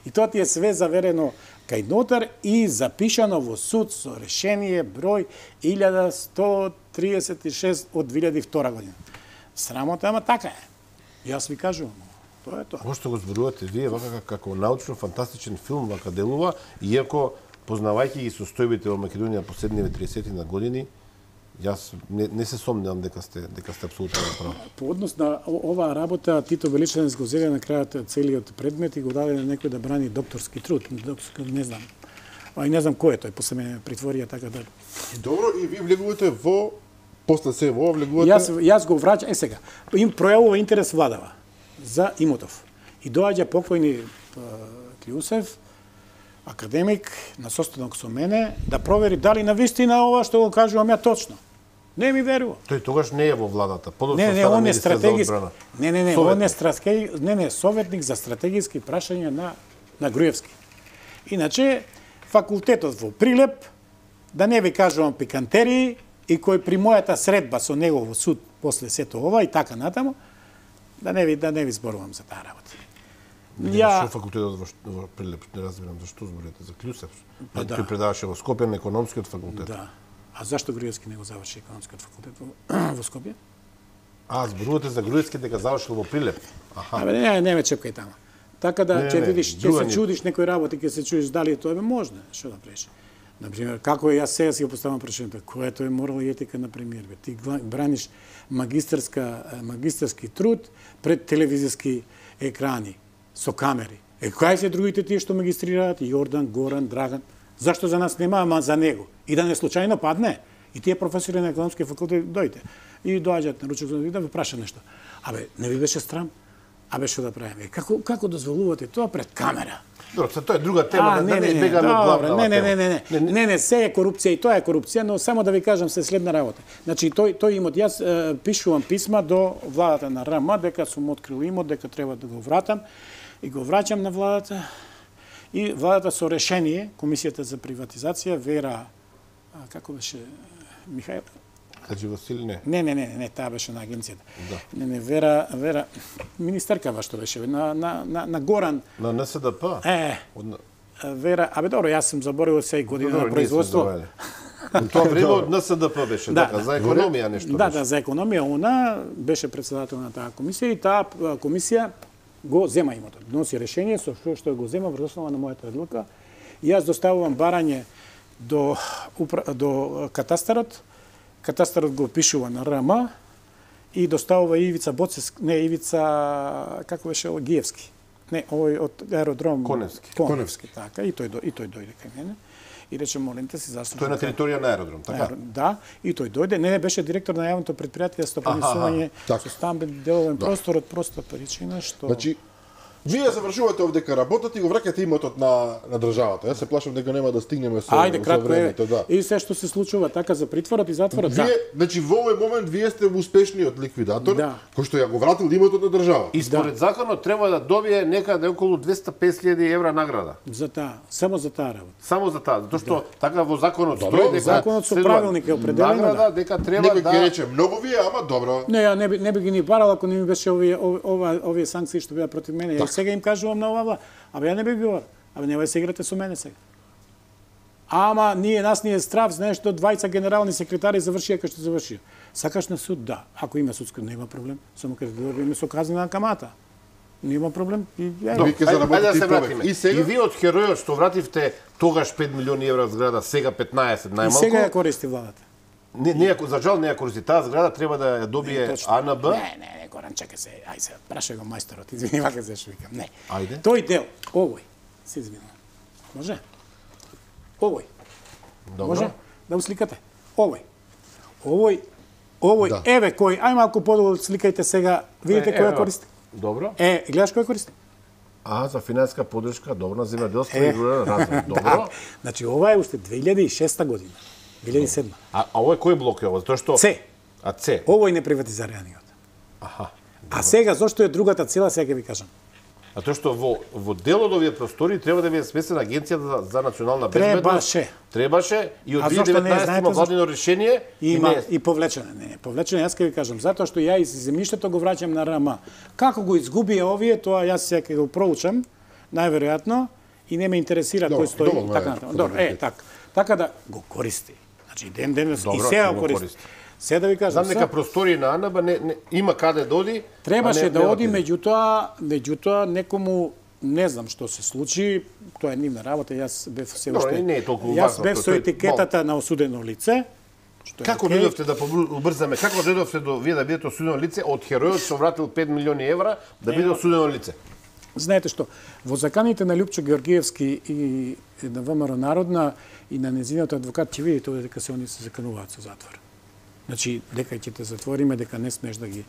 S2: И тоа ти е све заверено кај нотар и запишано во суд со решение број илјада сто триесет и шест од две илјади и втора година. Срамота, ама така е. Јас ви кажувам, тоа е тоа.
S3: Ова што го зборувате вие, вака како научно-фантастичен филм вака делува, иако познавајќи ги состојбите во Македонија последниве триесет на години, јас не, не се сомневам дека сте дека сте апсолутно прави.
S2: По однос на оваа работа Тито Величанец го зеде на крајот целиот предмет и го даде на некој да брани докторски труд, докторски, не знам. А и не знам кој е тој, после мене притворија така да.
S1: Добро, и ви влегувате во после се во влегувате.
S2: Јас јас го враќам, е сега. Им пројавува интерес владава за имотов. И доаѓа покојни Клиусев, академик, на состанок со мене, да провери дали навистина ова што го кажувам ја точно. Не ми верува.
S3: Тој тогаш не е во владата. Подоцна
S2: Не, не,
S3: стана
S2: он е
S3: министер за
S2: стратегиски.
S3: одбрана.
S2: Не, не, не,
S3: Советник.
S2: он е стратеги... не, не, советник за стратегиски прашања на на Груевски. Иначе факултетот во Прилеп, да не ви кажувам пикантерии, и кој при мојата средба со него во суд после сето ова и така натаму, да не ви да не ви зборувам за таа работа.
S3: Ја што факултетот во, во Прилеп, не разбирам зашто зборите за Клюсев.
S2: Па да.
S3: Тој предаваше во Скопје на економскиот факултет.
S2: Да. А зашто Груевски не го заврши економскиот факултет во, во Скопје?
S3: А, зборувате за Груевски дека завршил во Прилеп. Аха.
S2: Абе не, не ме чепкај таму. Така да
S3: Не,
S2: ќе
S3: не,
S2: видиш, ќе
S3: друга
S2: се
S3: ни-
S2: чудиш некој работи, ќе се чудиш дали тоа е можно, што да правиш. Например, како е, јас сега си го поставам прашањето, која тоа е морал и етика на премиер, бе? Ти гла- браниш магистарска магистарски труд пред телевизиски екрани со камери. Е, кои се другите тие што магистрираат? Јордан, Горан, Драган. Зашто за нас нема, ама за него? И да не случајно падне? И тие професори на економски факултет дојде и доаѓаат на ручок и да ве праша нешто. Абе, не ви беше срам? Абе, што да правиме? Како како дозволувате тоа пред камера?
S3: Добро, се тоа е друга тема,
S2: А,
S3: да не бегаме од
S2: добре,
S3: главната
S2: не, не,
S3: тема.
S2: не, не, не, не, не, се е корупција и тоа е корупција, но само да ви кажам се следна работа. Значи, тој, тој имот, јас е, пишувам писма до владата на РМ, дека сум открил имот, дека треба да го вратам, и го враќам на владата, и владата со решение, Комисијата за приватизација, Вера, а, како беше, Михаил,
S3: Хаджи Васили не.
S2: не, не, не, не, таа беше на агенцијата.
S3: Да.
S2: Не, не, Вера, Вера, министерка што беше, на, на, на, на Горан,
S3: На Н С Д П?
S2: е,
S3: Од...
S2: Вера, абе добро, јас сум заборавил сеј година
S3: Добро,
S2: на
S3: ние сме
S2: производство.
S3: забравили. Во тоа време од Н С Д П беше,
S2: Да,
S3: така,
S2: да.
S3: за економија нешто
S2: Да,
S3: беше.
S2: да, за економија она беше председател на таа комисија и таа а, комисија го зема имотот. Носи решение со што што го зема врз основа на мојата одлука. И јас доставувам барање до упра... до катастарот. Катастарот го пишува на РМ и доставува Ивица Боцес, не Ивица како беше Гиевски. Не, овој од аеродром
S3: Коневски.
S2: Коневски, така, и тој до- и тој дојде кај мене. И рече, молим те, си застапам.
S3: Тој е на територија на аеродром, така?
S2: Аеро- Да, и тој дојде. Не, не, беше директор на јавното предпријатие стопанисување
S1: така.
S2: со стамбен деловен простор од проста причина што
S1: Значи, вие завршувате овде дека работите и го враќате имотот на на државата. Јас се плашам дека нема да стигнеме со,
S2: Ајде
S1: со
S2: кратко е.
S1: времето, да.
S2: И се што се случува така за притворот и затворот, да.
S1: Вие, значи во овој момент вие сте успешниот ликвидатор
S2: Да.
S1: кој што ја го вратил имотот на државата.
S3: И според законот треба да добие некаде околу двесте и песет илјади евра награда.
S2: За таа, само за таа работа.
S3: Само за таа, затоа што така во законот
S1: Добро,
S3: стои дека
S2: законот со
S3: следува
S2: правилник е определено,
S3: награда
S2: да.
S3: дека треба
S1: Некој ќе
S3: да
S1: рече многу вие, ама добро.
S2: Не, ја не би, не би ги ни барал ако не ми беше овие овие, ова, овие санкции што беа против мене. Ја сега им кажувам на ова, абе ја не би ги барал. Абе нема да се играте со мене сега. Ама ние нас ни е страв, знаеш, до двајца генерални секретари завршија како што завршија. Сакаш на суд, да. Ако има судско, нема проблем. Само ќе добиеме со казнена камата. Нема проблем. И, ја,
S1: Вие ќе
S3: Ајде
S1: заработите
S3: да се
S1: и
S3: вратиме.
S1: повеќе. И сега
S3: И вие од херојот што вративте тогаш пет милиони евра зграда, сега петнаесет
S2: и
S3: најмалку.
S2: сега ја користи владата.
S3: Не, не, ја- за жал не ја користи таа зграда, треба да ја добие
S2: Точно.
S3: А Н Б.
S2: Не, не, не, Горан, чекај се. Ај се, прашај го мајсторот. Извини, вака се што викам. Не.
S3: Ајде.
S2: Тој дел, овој, се извинувам. Може? Овој.
S3: Добро.
S2: Може? Да усликате. Овој. Овој, овој,
S1: Да.
S2: еве кој, ај малку подолу сликајте сега, видите
S3: Е,
S2: која
S3: ево.
S2: користи.
S3: Добро.
S2: Е, гледаш која користи?
S3: А, за финансиска подршка, добро, на земјоделство
S2: Е.
S3: и рурален развој. Добро.
S2: Да. Значи, ова е уште две илјади и шеста година. две илјади и седма.
S3: А, а овој кој блок е ова? Затоа што
S2: С.
S3: А С.
S2: Овој не приватизираниот.
S3: Аха.
S2: А сега, зошто е другата цела, сега ќе ви кажам.
S3: А тоа што во во дел од овие простори треба да биде смесена агенцијата за, за национална безбедност.
S2: Требаше.
S3: Требаше и од
S2: А
S3: две
S2: зошто
S3: илјади и
S2: не
S3: деветнаесета
S2: знаете
S3: има
S2: зашто?
S3: владино решение
S2: И има
S3: не е-
S2: и повлечено. Не, не, повлечено, јас ќе ви кажам, затоа што ја из земјиштето го враќам на РМ. Како го изгубија овие, тоа јас сега ќе го проучам, најверојатно, и не ме интересира
S1: Добро,
S2: кој стои
S1: доволно е
S2: така натаму. Добро, е,
S1: фотографија.
S2: така. Така да го користи. Значи ден денес
S3: Добро,
S2: и сега
S3: ќе
S2: го
S3: го
S2: користи.
S3: користи.
S2: Сега да ви кажам,
S3: Знам дека простори на А Н Б не, не има каде да оди. а
S2: требаше
S3: не-
S2: да
S3: не
S2: оди,
S3: отиде.
S2: меѓутоа, меѓутоа некому не знам што се случи, тоа е нивна работа, јас бев се
S3: Добро,
S2: уште.
S3: не е толку
S2: Јас
S3: важно,
S2: бев
S3: тоа-
S2: со
S3: тој-
S2: етикетата на осудено лице. Што е
S3: Како
S2: окей.
S3: дојдовте да побр- убрзаме? Како дојдовте до вие да бидете осудено лице од херојот што вратил пет милиони евра да биде осудено лице?
S2: Знаете што, во заканите на Лјупчо Георгиевски и на ВМРО Народна и на незиниот адвокат ќе видите овде дека се они се закануваат со затвор. Значи, дека ќе те затвориме, дека не смеш да ги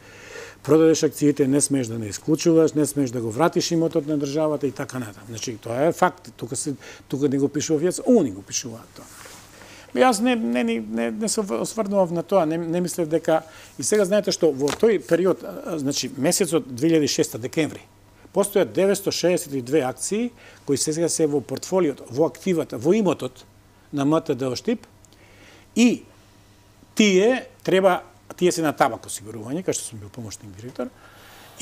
S2: продадеш акциите, не смеш да не исклучуваш, не смеш да го вратиш имотот на државата и така натаму. Значи, тоа е факт. Тука се тука не го пишува вјас, они го пишуваат тоа. Јас не, не, не, не се осврнував на тоа, не, не мислев дека... И сега знаете што, во тој период, значи месецот две илјади и шеста декември, постојат деветстотини шеесет и две акции, кои сега се во портфолиото, во активата, во имотот на М Т Д Оштип, и тие треба, тие се на табак осигурување, кај што сум бил помошник директор,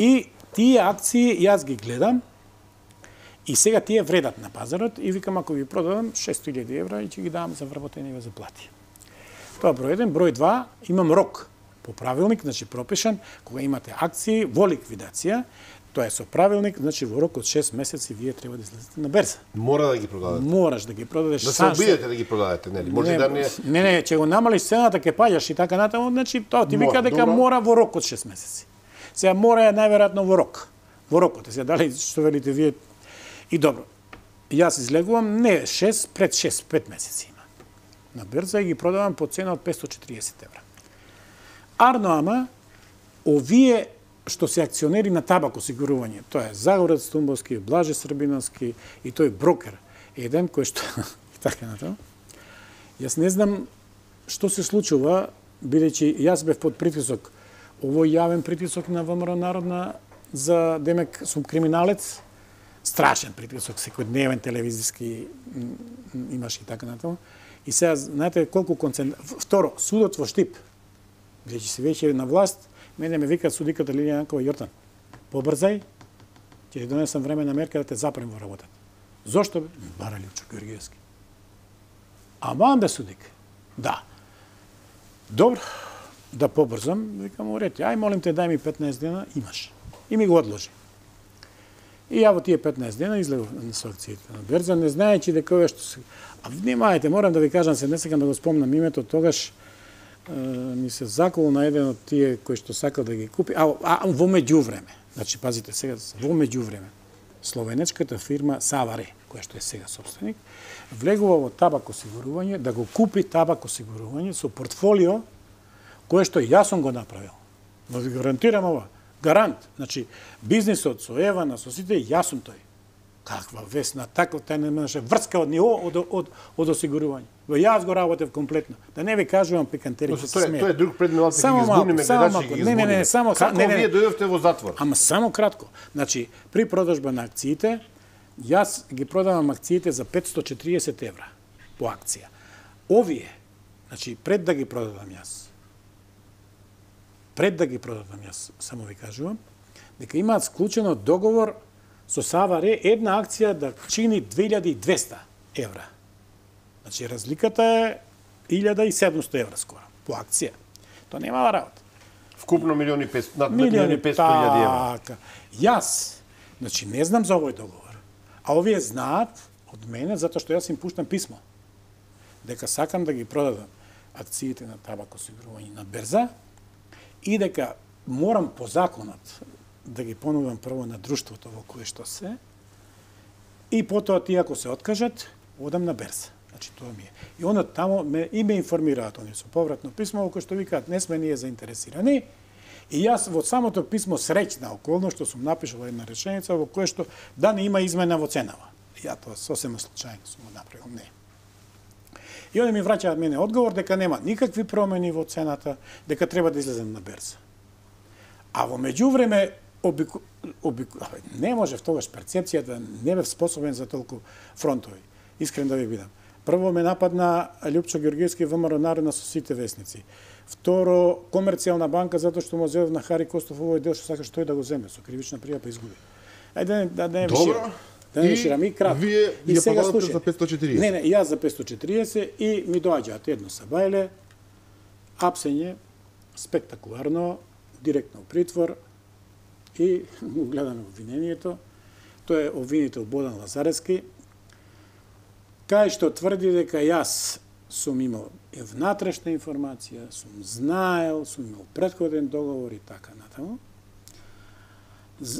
S2: и тие акции јас ги гледам, и сега тие вредат на пазарот и викам ако ги продадам шест илјади евра и ќе ги давам за вработени за плати. Тоа број еден, број два, имам рок по правилник, значи пропишан, кога имате акции во ликвидација, тоа е со правилник, значи во рок од шест месеци вие треба да излезете на берза.
S3: Мора да ги продадете.
S2: Мораш да ги продадеш.
S3: Да се обидете да ги продадете, нели? Може
S2: не,
S3: да не
S2: Не, не, ќе го намалиш цената, ќе паѓаш и така натаму, значи тоа ти вика дека добро. Мора во рок од шест месеци. Сега мора е најверојатно во рок. Во рокот. Сега дали што велите вие. И добро, јас излегувам не шест, пред шест, пет месеци има. На берза и ги продавам по цена од петстотини и четириесет евра. Арно ама, овие што се акционери на табак осигурување, тоа е Загорец Тумбовски, Блаже Србиновски и тој брокер, еден кој што и така натаму. Јас не знам што се случува, бидејќи јас бев под притисок, овој јавен притисок на ВМРО Народна за демек сум криминалец, страшен притисок, секојдневен телевизиски имаш и така натаму. И сега, знаете колку концент... Второ, судот во Штип, бидејќи се веќе на власт, мене ме викаат судиката Лилија Јанкова Јортан. Побрзај, ќе ти донесам времена мерка да те запрем во работата. Зошто? Бара Лјупчо Георгиевски. Аман бе судик. Да. Добро, да побрзам, викам у ред, ај молим те дај ми петнаесет дена, имаш. И ми го одложи. И ја во тие петнаесет дена излегов со акциите на берза, не знаејќи дека ова што се... А внимајте, морам да ви кажам, се не сакам да го спомнам името, тогаш е, ми се заколу на еден од тие кои што сакал да ги купи, а, а во меѓувреме, значи пазите сега, во меѓувреме, словенечката фирма Саваре, која што е сега собственик, влегува во табак осигурување, да го купи табак осигурување со портфолио кое што јас сум го направил. Но ви гарантирам ова. Гарант. Значи, бизнисот со Евана, со сите, јас сум тој. Каква весна, така тај немаше врска од него од, од, од осигурување. Во јас го работев комплетно. Да не ви кажувам пикантерија се смеја.
S3: Тоа е друг предмет, ќе ги изгубниме гледачи, ги
S2: Не, не, не, само
S3: како
S2: не, не,
S3: вие дојдовте во затвор?
S2: Ама само кратко. Значи, при продажба на акциите, јас ги продавам акциите за петстотини и четириесет евра по акција. Овие, значи, пред да ги продадам јас, пред да ги продадам јас, само ви кажувам, дека имаат склучено договор со Саваре една акција да чини две илјади и двесте евра. Значи, разликата е илјада и седумсто евра скоро по акција. Тоа нема работа.
S3: Вкупно милиони и петстотини, над милиони и петстотини илјади евра.
S2: Така. Јас, значи, не знам за овој договор. А овие знаат од мене, затоа што јас им пуштам писмо, дека сакам да ги продадам акциите на табак осигурување на берза и дека морам по законот да ги понудам прво на друштвото во кое што се и потоа тие ако се откажат, одам на берза. Значи тоа ми е. И она тамо ме и ме информираат они со повратно писмо во кое што викаат не сме ние заинтересирани. И јас во самото писмо среќна околност што сум напишал една реченица во кое што да не има измена во ценава. Ја тоа сосема случајно сум го направил, не. И они ми враќаат мене одговор дека нема никакви промени во цената, дека треба да излезем на берза. А во меѓувреме обику... обику... не може тогаш перцепцијата, не бев способен за толку фронтови. Искрен да ви бидам. Прво ме нападна Лјупчо Георгиевски ВМРО Народна со сите весници. Второ, Комерцијална банка затоа што му зедов на Хари Костов овој дел што сакаш тој да го земе со кривична пријава па изгуби. Ајде да не
S1: Добро.
S2: Да не ширам и кратко.
S1: Вие
S2: и
S1: ја
S2: сега
S1: подадете за петстотини и четириесет.
S2: Не, не, јас за петстотини и четириесет и ми доаѓаат едно сабајле, апсење, спектакуларно, директно у притвор и го гледаме обвинението. Тој е обвинител Бодан Лазаревски, кај што тврди дека јас сум имал внатрешна информација, сум знаел, сум имал претходен договор и така натаму,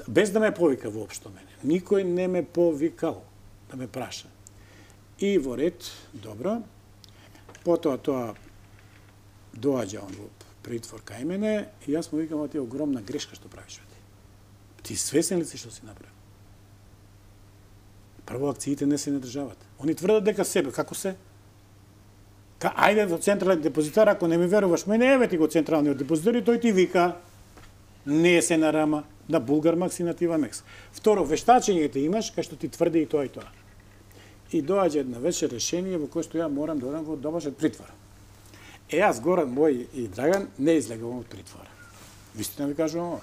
S2: без да ме повика воопшто мене. Никој не ме повикал да ме праша. И во ред, добро, потоа тоа доаѓа он во притвор кај мене и јас му викам, а ти е огромна грешка што правиш, бе. Ти свесен ли си што си направил? Прво, акциите не се на државата. Они тврдат дека себе, како се? Ка, ајде до централен депозитар, ако не ми веруваш мене, еве ти го централниот депозитар и тој ти вика, не се на Рама, на Булгармакс и на Тивамекс. Второ, вештачењето имаш, кај што ти тврди и тоа и тоа. И доаѓа една вечер решение во кое што ја морам да одам во домашен притвор. Е, јас, Горан мој и Драган, не излегувам од притвора. Вистина ви кажувам ова.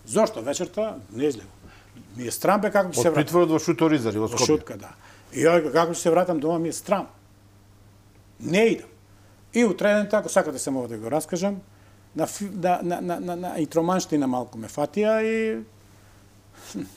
S2: Зошто вечерта не излегувам? Ми е страм бе како ќе се
S3: вратам. Од притворот во Шуторизари, во Скопје.
S2: Во Шутка, да. И ја како ќе се вратам дома ми е страм. Не идам. И утреден тако, сакате само да го раскажам, на, на, на, на, на, на итроманштина малку ме фатија и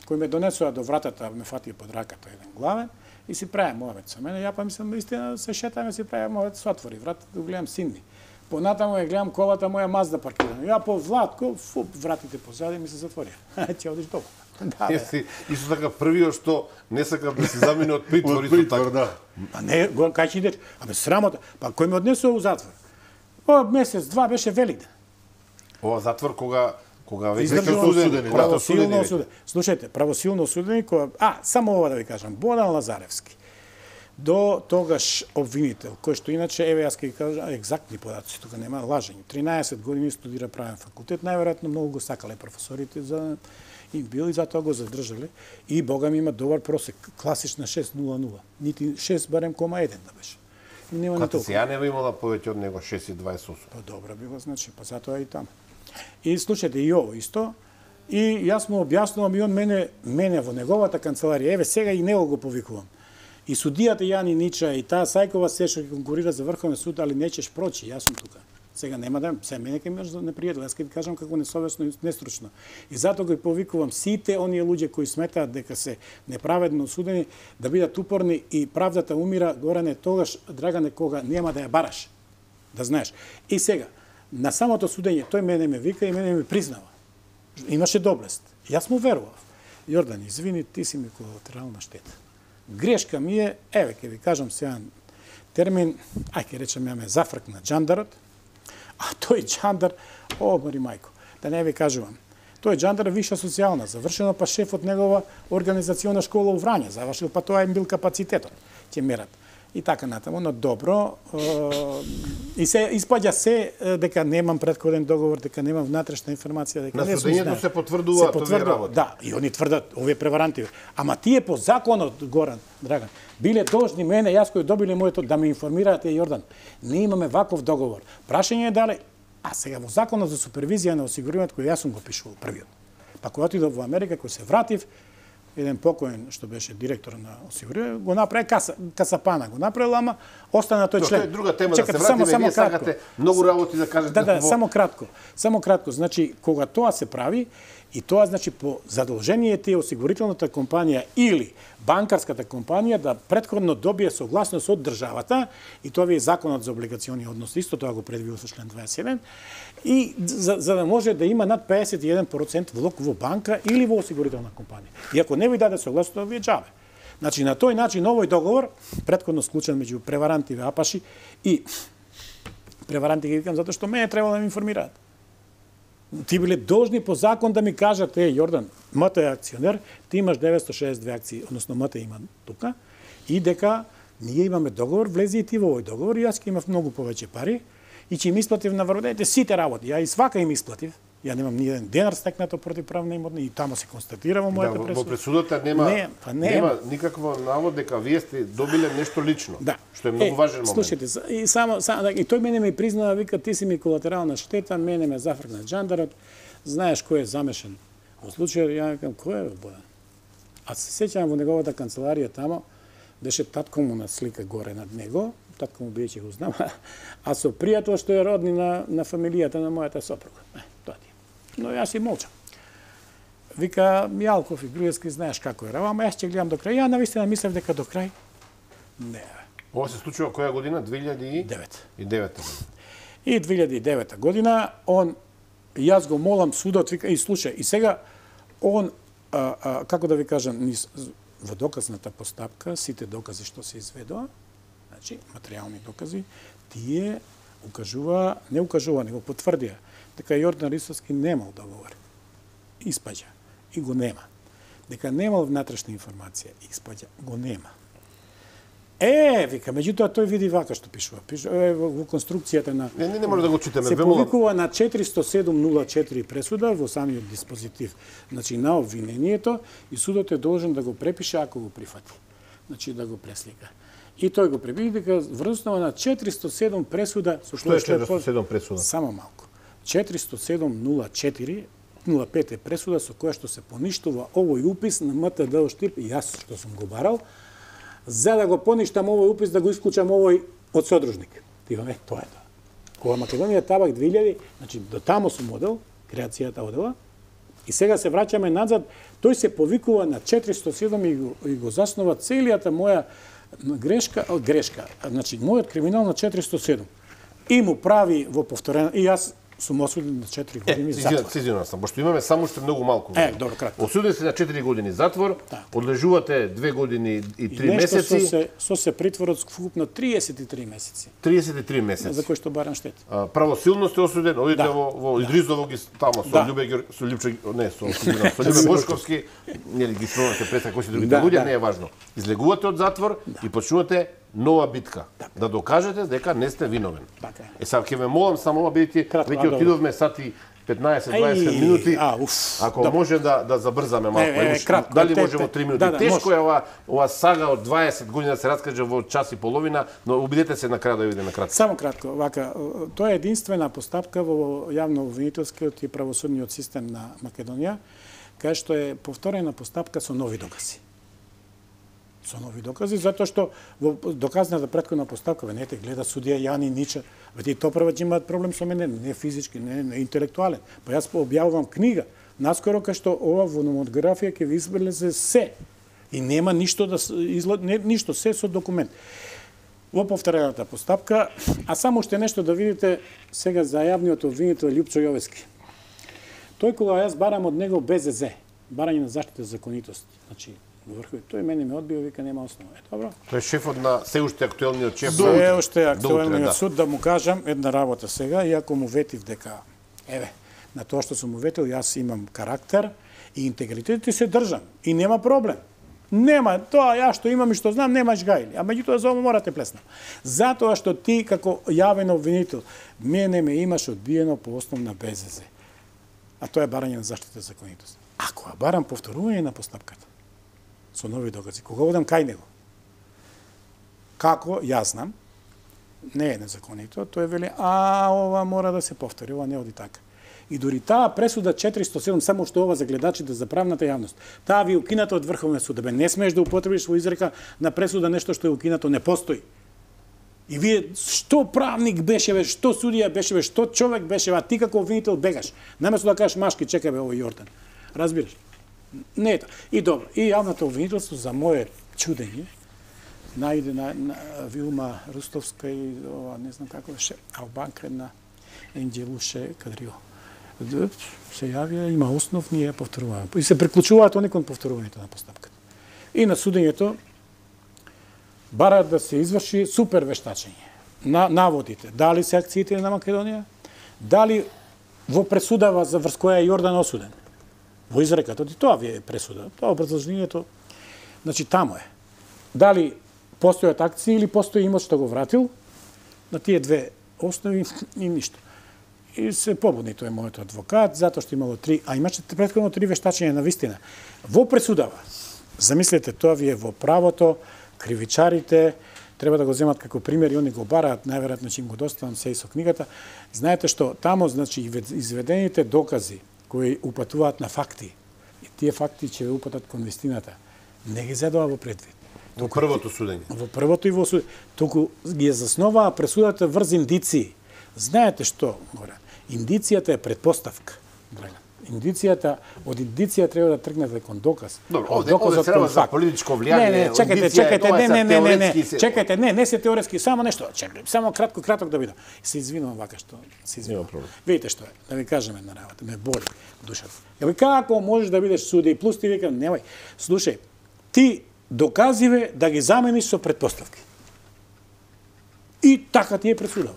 S2: кој ме донесува до вратата, ме фатија под раката еден главен и си прави мојавет со мене. Ја па мислам, истина се шетаме, си прави мојавет, се отвори вратата, да гледам синни. Понатаму ја гледам колата моја Мазда паркирана. Ја по Владко, фуп, вратите позади ми се затворија. Ќе одиш долу. Да,
S3: Еси, исто така првиот што не сака да се замине од притвор,
S1: исто така. Да.
S2: Па не, кај ќе идеш? Абе срамота. Па кој ме однесува у затвор? О, месец, два беше Великден.
S3: Ова затвор кога кога веќе
S2: Издржува
S3: осудени,
S2: правосилно осудени. Слушајте, правосилно осудени кога а само ова да ви кажам, Бодан Лазаревски. До тогаш обвинител, кој што иначе еве јас ќе ви кажам екзактни податоци, тука нема лажење. тринаесет години студира правен факултет, најверојатно многу го сакале професорите за и бил и затоа го задржале. И бога ми има добар просек, класична шест нула нула. Нити шест барем кома еден да беше. И нема ни толку.
S3: Ја не би имала повеќе од него шест и дваесет осум.
S2: Па добро било, значи, па затоа и таму. И слушате и ово исто. И јас му објаснувам и он мене мене во неговата канцеларија. Еве сега и него го повикувам. И судијата Јани Нича и таа Сајкова се што конкурира за Врховен суд, али нечеш прочи, јас сум тука. Сега нема да, се мене ке имаш непријател, јас ќе ви кажам како несовесно и нестручно. И затоа го повикувам сите оние луѓе кои сметаат дека се неправедно осудени да бидат упорни и правдата умира, Горане, тогаш, Драгане, кога нема да ја бараш. Да знаеш. И сега, на самото судење, тој мене ме вика и мене ме признава. Имаше доблест. Јас му верував. Јордан, извини, ти си ми колатерална штета. Грешка ми е, еве, ќе ви кажам сега термин, ај ќе речем ја ме зафркна джандарот, а тој джандар, о, мори мајко, да не ви кажувам, тој джандар виша социјална, завршено па шеф од негова организациона школа у Врање, завршил па тоа им бил капацитетот, ќе мерат. И така натаму, но добро, и се испаѓа се дека немам претходен договор, дека немам внатрешна информација, дека
S3: на
S2: не сум
S3: судењето се потврдува овие работи.
S2: Да, и они тврдат, овие преваранти. Ама тие по законот, Горан, Драган, биле должни мене, јас кој добиле моето, да ме информираат, Јордан, не имаме ваков договор. Прашање е дали, а сега во законот за супервизија на осигурувањето, кој јас сум го пишувал првиот. Па кога отидов во Америка, кој се вратив, еден покоен што беше директор на осигурување, го направи каса, касапана, го направил, ама остана тој член.
S3: Тоа е друга тема.
S2: Чекате,
S3: да се вратиме,
S2: само,
S3: вие
S2: само
S3: сакате многу работи да кажете.
S2: Да, да,
S3: во...
S2: само кратко. Само кратко. Значи, кога тоа се прави, и тоа значи по задолжение тие осигурителната компанија или банкарската компанија да претходно добие согласност од државата, и тоа ви е законот за облигациони односи, исто тоа го предвидува со член дваесет и еден, и за, за да може да има над педесет и еден процент влог во банка или во осигурителна компанија. И ако не ви даде согласност, тоа ви е џабе. Значи, на тој начин овој договор, претходно склучен меѓу преваранти и апаши, и преваранти ги викам затоа што мене требало да ме информираат. Ти биле должни по закон да ми кажат, е, Јордан, МТ е акционер, ти имаш деветстотини шеесет и две акции, односно МТ има тука, и дека ние имаме договор, влези и ти во овој договор, и јас ќе имав многу повеќе пари, и ќе им исплатив на врводените сите работи. Ја и свака им исплатив. Ја немам ни еден денар стекнато противправна имотна, и тамо се констатира во мојата
S3: да,
S2: пресуда.
S3: Во пресудата нема,
S2: не, па не,
S3: нема никакво навод дека вие сте добиле нешто лично,
S2: да.
S3: Што е многу
S2: е,
S3: важен момент.
S2: Слушайте, и само, само и тој мене ми признава, вика, ти си ми колатерална штета, мене ме зафркна джандарот, знаеш кој е замешан во случајот. Ја викам, кој е Бодан? А се сеќавам во неговата канцеларија тамо, беше татко му на слика горе над него, татко му биеќе го знам, а со пријател што е родни на, на фамилијата на мојата сопруга. Е, тоа ти. Но јас и молчам. Вика, Мјалков и Груевски, знаеш како е, ама јас ќе гледам до крај. Ја навистина мислев дека до крај. Не.
S3: Ова се случува која година? две илјади и девета.
S2: И две илјади и девета година, он, јас го молам судот, вика, и слушај, и сега, он, а, а, како да ви кажам, низ, во доказната постапка, сите докази што се изведоа, значи, материјални докази, тие укажува, не укажува, него потврдија, дека Јордан Рисовски немал договор. Испаѓа. И го нема. Дека немал внатрешна информација. Испаѓа. Го нема. Е, вика, меѓутоа тој види вака што пишува. Пишува е, во, во конструкцијата на
S3: Не, не, не може да го читаме.
S2: се повикува на четиристо седум нула четири пресуда во самиот диспозитив. Значи на обвинението и судот е должен да го препише ако го прифати. Значи да го преслика. И тој го препише дека врз основа на четиристо седум пресуда со
S3: Што е четиристо седум пресуда?
S2: Само малку. четиристо седум нула четири нула пет е пресуда со која што се поништува овој упис на М Т Д Штип и јас што сум го барал, за да го поништам овој упис, да го исклучам овој од содружник. Тиваме, тоа е тоа. Кога Македонија табак две илјади, значи до тамо сум одел, креацијата одела, и сега се враќаме назад, тој се повикува на четиристо седум и го, и го заснова целијата моја грешка, грешка, значи мојот криминал на четиристо седум. И му прави во повторена, и јас сум осуден на четири години
S3: е,
S2: затвор.
S3: Сезиран сам, пошто имаме само уште многу малку.
S2: Е, добро, кратко.
S3: Осуден се на четири години затвор,
S2: да.
S3: Одлежувате две години и три
S2: и нешто
S3: месеци.
S2: Со се, со се притворот вкупно триесет и три месеци.
S3: триесет и три месеци.
S2: За кој што барам штета.
S3: А, правосилно сте осуден, одите
S2: Да.
S3: во, во Идризово ги тамо со
S2: Да.
S3: Љубе Геор- со Љупче, не, со со Љубе Бошковски, нели ги спомнате пред кои се другите
S2: Да,
S3: луѓе,
S2: да.
S3: не е важно. Излегувате од затвор и почнувате нова битка, да докажете дека не сте виновен.
S2: Така е.
S3: Е, сега ќе ве молам само ова, бидејќи
S2: Кратко, а,
S3: веќе
S2: добро.
S3: отидовме сати петнаесет-дваесет
S2: Ај,
S3: минути.
S2: а, уф,
S3: Ако
S2: добро.
S3: може да да забрзаме малку,
S2: Е, е,
S3: Имаш-
S2: кратко,
S3: дали
S2: те-
S3: може во
S2: те-
S3: три минути?
S2: да, да,
S3: Тешко
S2: може.
S3: е ова ова сага од дваесет години да се раскаже во час и половина, но обидете се на крај да видиме кратко.
S2: Само кратко, вака, тоа е единствена постапка во јавно-обвинителскиот и правосудниот систем на Македонија, кај што е повторена постапка со нови докази. Со нови докази, затоа што во доказната претходна постапка, не те гледа судија Јани Нича, веќе и Топрвач имаат проблем со мене, не физички, не, не интелектуален. Па јас објавувам книга, наскоро кај што ова во номографија ќе ви излезе се. И нема ништо да излад, не, ништо, се со документ. Во повторената постапка, а само уште нешто да видите сега за јавниот обвинител Љупчо Јовески. Тој кога јас барам од него Б З З, барање на заштита за законитост, значи во врхови, тој мене ме одбио, вика нема основа. Е, добро.
S3: Тој е шефот на се уште актуелниот шеф.
S2: Се уште
S3: До утре,
S2: актуелниот
S3: да.
S2: суд, да му кажам една работа сега, иако му ветив дека, еве, на тоа што сум му ветил, јас имам карактер и интегритет и се држам. И нема проблем. Нема, тоа ја што имам и што знам, немаш гајли. А меѓутоа за ова морате плеснам. Затоа што ти како јавен обвинител, мене ме имаш одбиено по основ на Б З З. А тоа е барање на заштита за законитост. Ако ја барам повторување на постапката, со нови докази, кога одам кај него, како, јас знам, не е незаконито, тој вели, а, ова мора да се повтори, ова не оди така. И дори таа пресуда четиристо седум, само што ова за гледачите, за правната јавност, таа ви е укината од Врховниот суд, бе, не смееш да употребиш во изрека на пресуда нешто што е укинато, не постои. И вие, што правник беше, бе, што судија беше, бе, што човек беше, бе, а ти како обвинител бегаш. Наместо да кажеш, машки, чекај бе, овој Јордан. Разбираш? Не е тоа. И добро, и јавното обвинителство за моје чудење, најде на, на Вилма Рустовска и ова, не знам како беше, Албанка на Енџелуше Кадрио. Се јавија, има основ, ние повторуваме. И се приклучуваат они кон повторувањето на постапката. И на судењето бараат да се изврши супер вештачење на наводите. Дали се акциите на Македонија, дали во пресудава за врз која е Јордан осуден. Во изреката, и тоа ви е пресуда. Тоа образложението, значи тамо е. Дали постојат акции или постои имот што го вратил, на тие две основи и ништо. И се побудни тој мојот адвокат, затоа што имало три, а имаше претходно три вештачења на вистина. Во пресудава, замислете, тоа ви е во правото, кривичарите, треба да го земат како пример и они го бараат, најверојатно ќе им го доставам се и со книгата. Знаете што, тамо, значи, изведените докази кои упатуваат на факти, и тие факти ќе ве упатат кон вистината, не ги зедува во предвид.
S3: Во првото судење.
S2: Во првото и во судење. Туку ги засноваа пресудата врз индиции. Знаете што, горе? Индицијата е предпоставка. Драган. Индицијата, од индиција треба да тргнете кон доказ.
S3: Добро,
S2: од
S3: овде,
S2: доказот
S3: овде се работи
S2: кон
S3: за
S2: факт.
S3: политичко влијание.
S2: Не, не, чекајте,
S3: индиција е,
S2: чекајте,
S3: ова
S2: не,
S3: се
S2: не, не, не, не,
S3: теоретски се-
S2: чекајте, не, не се теоретски, само нешто, чекај, само кратко, краток да видам. Се извинувам вака што се извинувам.
S3: проблем.
S2: Видите што е, да ви кажем една работа, ме боли душата. Ја ви како можеш да бидеш судија и плюс ти викам, немај, слушај, ти доказиве да ги замениш со предпоставки. И така ти е пресудава.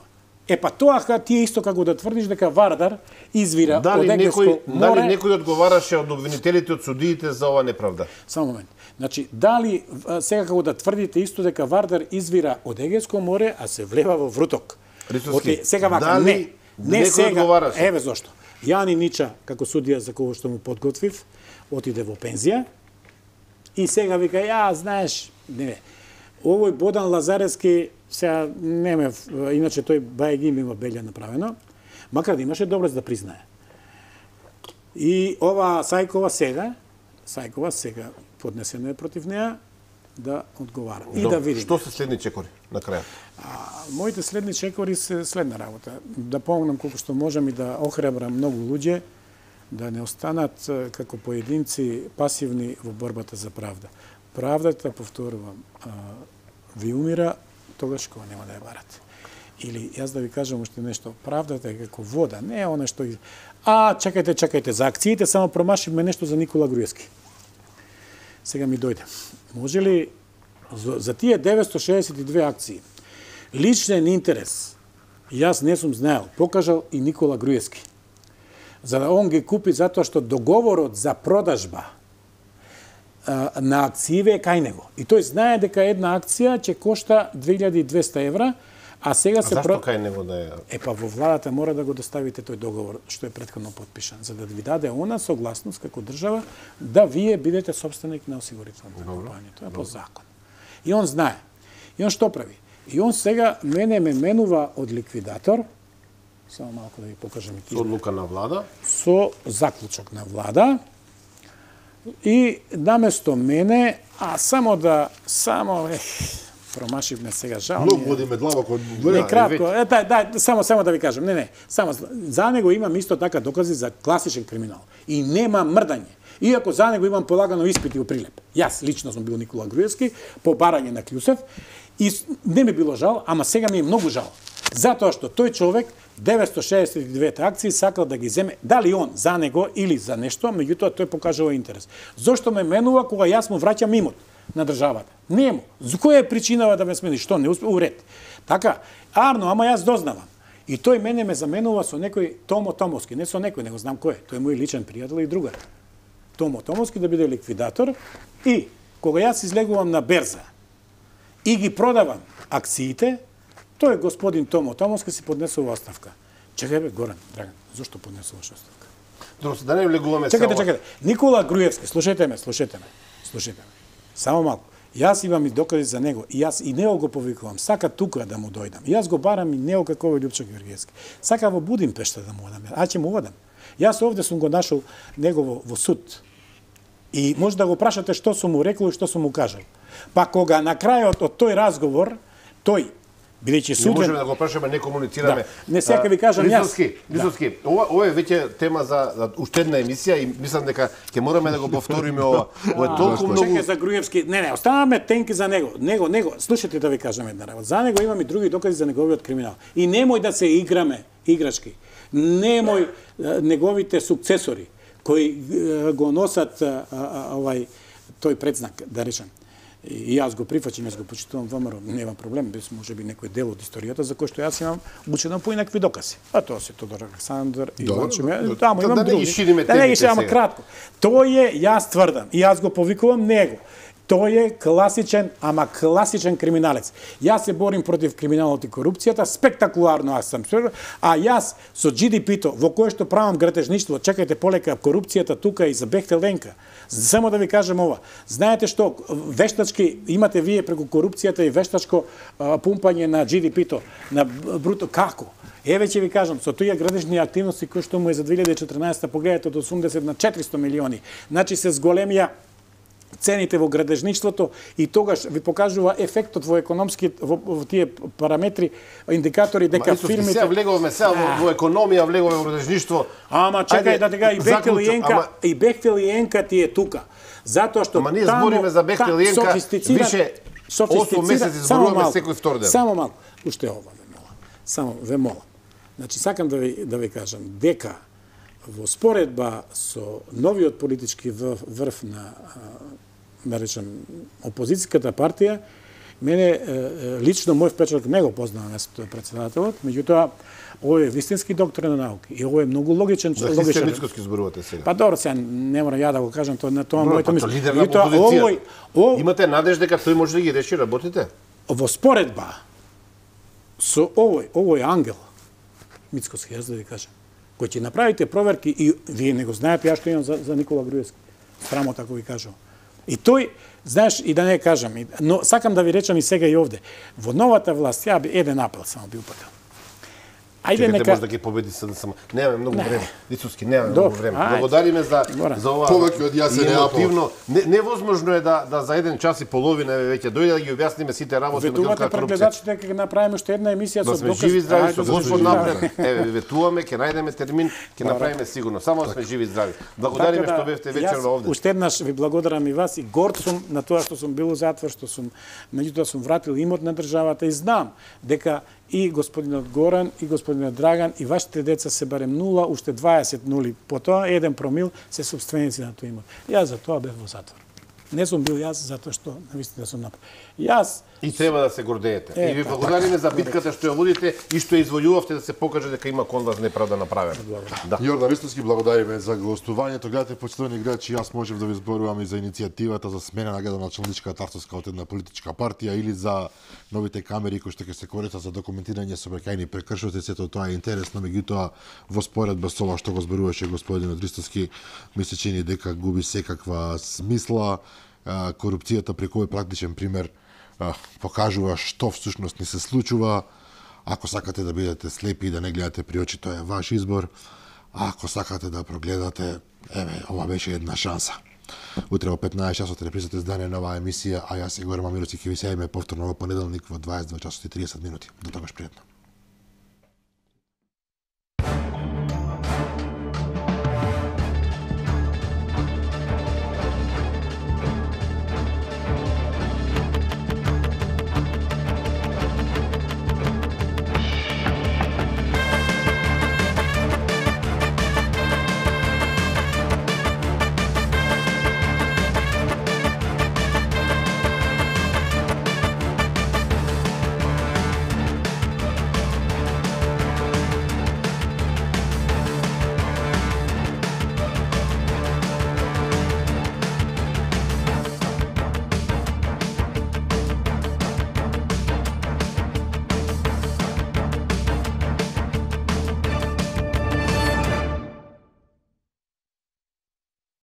S2: Е па тоа ка ти е исто како да тврдиш дека Вардар извира од
S3: Дали
S2: Егејско
S3: некој,
S2: море.
S3: дали некој одговараше од обвинителите, од судиите за ова неправда?
S2: Само момент. Значи, дали сега како да тврдите исто дека Вардар извира од Егејско море, а се влева во Вруток.
S3: Рисовски,
S2: сега вака,
S3: дали
S2: не, не сега,
S3: одговараше?
S2: еве зошто. Јани Нича, како судија за кого што му подготвив, отиде во пензија и сега вика, ја, знаеш, не, овој Бодан Лазаревски, сега неме, иначе тој Баегим има белја направено, макар да имаше доблест да признае. И ова Сајкова сега, Сајкова сега поднесено е против неа да одговара. И
S3: До,
S2: да видиме.
S3: Што се следни чекори на крајот?
S2: А, моите следни чекори се следна работа. Да помогнам колку што можам и да охрабрам многу луѓе да не останат како поединци пасивни во борбата за правда. Правдата, повторувам, а, ви умира тогаш кога нема да ја барате. Или јас да ви кажам уште нешто, правдата е како вода, не е она што а чекајте, чекајте, за акциите само промашивме нешто за Никола Груевски. Сега ми дојде. Може ли за, за тие деветсто шеесет и две акции личен интерес, јас не сум знаел, покажал и Никола Груевски. За да он ги купи затоа што договорот за продажба а, на акцииве е кај него. И тој знае дека една акција ќе кошта две илјади и двесте евра, а сега
S3: А
S2: се...
S3: зашто кај него да е?
S2: Е, па во владата мора да го доставите тој договор што е претходно подпишан, за да ви даде она согласност како држава да вие бидете собственик на осигурителната компанија. Тоа е по закон. И он знае. И он што прави? И он сега мене ме менува од ликвидатор, само малку да ви покажам и
S3: Со одлука на влада?
S2: со заклучок на влада, и наместо мене, а само да, само, ех, промашивме сега, жал ми
S1: Многу
S2: е.
S1: водиме длабоко.
S2: Не, кратко, е, дај, дај, само, само да ви кажам, не, не, само, за него имам исто така докази за класичен криминал. И нема мрдање. Иако за него имам полагано испити у Прилеп. Јас лично сум бил Никола Груевски, по барање на Клјусев, и не ми било жал, ама сега ми е многу жал. Затоа што тој човек деветсто шеесет и две акции сакал да ги земе, дали он за него или за нешто, меѓутоа тој покажува интерес. Зошто ме менува кога јас му враќам имот на државата? Нему. За која е причинава да ме смени? Што не успе уред? Така, Арно, ама јас дознавам. И тој мене ме заменува со некој Томо Томовски, не со некој, него знам кој е. Тој е мој личен пријател и другар. Томо Томовски да биде ликвидатор и кога јас излегувам на берза и ги продавам акциите, тој господин Томо Томовски си поднесува оставка. Чекај бе, Горан, Драган, зошто поднесуваш оставка?
S3: Добро, да не влегуваме
S2: Чекайте,
S3: само...
S2: чекайте. Никола Груевски, слушајте ме, слушајте ме. Слушајте ме. Само малку. Јас имам и докази за него и јас и него го повикувам. Сака тука да му дојдам. Јас го барам и него како овој Љупчо Георгиевски. Сака во Будимпешта да му одам. А ќе му одам. Јас овде сум го нашол него во, во суд. И може да го прашате што сум му рекол и што сум му кажал. Па кога на крајот од тој разговор, тој, бидејќи суден...
S3: Не можеме да го прашаме, не комуницираме.
S2: Да. Не сега ви кажам јас.
S3: Лизовски, Лизовски, да. ова, ова е веќе тема за, за уште една емисија и мислам дека ќе мораме да го повториме ова. Ова е толку многу...
S2: Чекај за Груевски. Не, не, оставаме тенки за него. Него, него, слушате да ви кажам една работа. За него имам и други докази за неговиот криминал. И немој да се играме играчки. Немој неговите сукцесори кои го носат а, а, овај тој предзнак, да речем. И јас го прифаќам, јас го почитувам ВМРО, нема проблем, без можеби некој дел од историјата за кој што јас имам учено по инакви докази. А тоа се Тодор Александар и Лачо. Тамо имам
S3: да не
S2: други.
S3: ги шириме
S2: Да не ги
S3: темите
S2: ама
S3: сега.
S2: кратко. Тој е, јас тврдам, и јас го повикувам него. Тој е класичен, ама класичен криминалец. Јас се борим против криминалот и корупцијата, спектакуларно аз сум, а јас со Джи Ди Пи-то, во кое што правам гратежништво, чекајте полека корупцијата тука и за Бехтел Ленка. Само да ви кажем ова. Знаете што, вештачки имате вие преку корупцијата и вештачко а, пумпање на Джи Ди Пи-то, на бруто, како? Еве ќе ви кажам, со тие градежни активности кои што му е за две илјади и четрнаесетта, погледате од осумдесет на четиристо милиони. Значи се зголемија цените во градежништвото и тогаш ви покажува ефектот во економски во, во тие параметри, индикатори дека фирмите
S3: Сега влегуваме сега во, во економија, влегуваме во градежништво.
S2: Ама чекај
S3: Ајде,
S2: да тега и Бехтел и
S3: заклучок,
S2: Енка,
S3: ама-
S2: и Бехтел и Енка ти е тука. Затоа што
S3: Ама ние
S2: тамо-
S3: збориме за Бехтел и
S2: та-
S3: Енка,
S2: софистициран-
S3: више
S2: софистициран-
S3: осум месеци
S2: само
S3: зборуваме
S2: малку,
S3: секој втор ден.
S2: Само малку, уште ова ве молам. Само ве молам. Значи сакам да ви да ви кажам дека во споредба со новиот политички врв, врв на а, да речем опозицијската партија Мене лично мој впечаток не го познавам јас тој председателот, меѓутоа овој е вистински доктор на науки и овој е многу логичен
S3: За
S2: логичен.
S3: Мицкоски зборувате сега.
S2: Па добро, сега не мора ја да го кажам тоа на тоа
S3: Добро,
S2: моето
S3: па,
S2: мислење.
S3: лидер на
S2: Меѓутоа,
S3: опозицијата.
S2: овој о,
S3: Имате надеж дека тој може да ги реши, работите?
S2: во споредба со овој, овој ангел Мицкоски, јас да ви кажам, кој ќе направите проверки и вие не го знаете, ја што имам за, за Никола Груевски. Срамота ако ви кажам. И тој, знаеш, и да не кажам, и- но сакам да ви речам и сега и овде. Во новата власт, ја би еден апел само би упатил. Ајде
S3: Чекате,
S2: нека...
S3: може да ги победи СДСМ. Немаме многу
S2: Не.
S3: време. Ицуски, немаме
S2: Добро,
S3: многу време.
S2: ајде.
S3: Благодариме за
S2: Добро.
S3: за ова.
S1: Повеќе од јас е
S3: емотивно. Не, невозможно е да да за еден час и половина веќе дојде да ги објасниме сите работи на
S2: Ветувате
S3: корупција.
S2: пред гледачите дека направиме уште една емисија
S3: Да
S2: со
S3: сме
S2: доказ.
S3: живи и здрави
S2: Ајде,
S3: со
S2: да
S3: Господ
S2: сме
S3: напред.
S2: живи.
S3: Еве ветуваме, ќе најдеме термин, ќе направиме сигурно. Само да сме живи и здрави. Благодариме
S2: Така да,
S3: што бевте
S2: јас
S3: вечерва овде.
S2: Уште еднаш ви благодарам и вас и горд сум на тоа што сум бил у затвор, што сум меѓутоа сум вратил имот на државата и знам дека и господинот Горан и господинот Драган и вашите деца се барем нула, уште дваесет нули, потоа еден промил се собственици на тој имот. Јас за тоа бев во затвор. Не сум бил јас затоа што навистина сум направил. Јас
S3: И треба да се гордеете.
S2: Е,
S3: И ви
S2: па,
S3: благодариме за битката што ја водите и што ја извојувавте да се покаже дека има кон вас неправда направена. Да.
S1: Јордан Ристовски, благодариме за гостувањето. Гледате, почитувани играчи, јас можев да ви зборувам и за иницијативата за смена на градоначалничката авторска од една политичка партија или за новите камери кои што ќе се користат за документирање сообраќајни прекршоци. Сето тоа е интересно, меѓутоа во споредба со ова што го зборуваше господинот Ристовски, ми се чини дека губи секаква смисла. А, корупцијата преку овој практичен пример а, покажува што всушност ни се случува. Ако сакате да бидете слепи и да не гледате при очи, тоа е ваш избор. А ако сакате да прогледате, еве, ова беше една шанса. Утре во петнаесет часот репризата издание на оваа емисија, а јас Игор Мамировски ќе ви се јавиме повторно во понеделник во дваесет и два часот и триесет минути. До тогаш пријатно.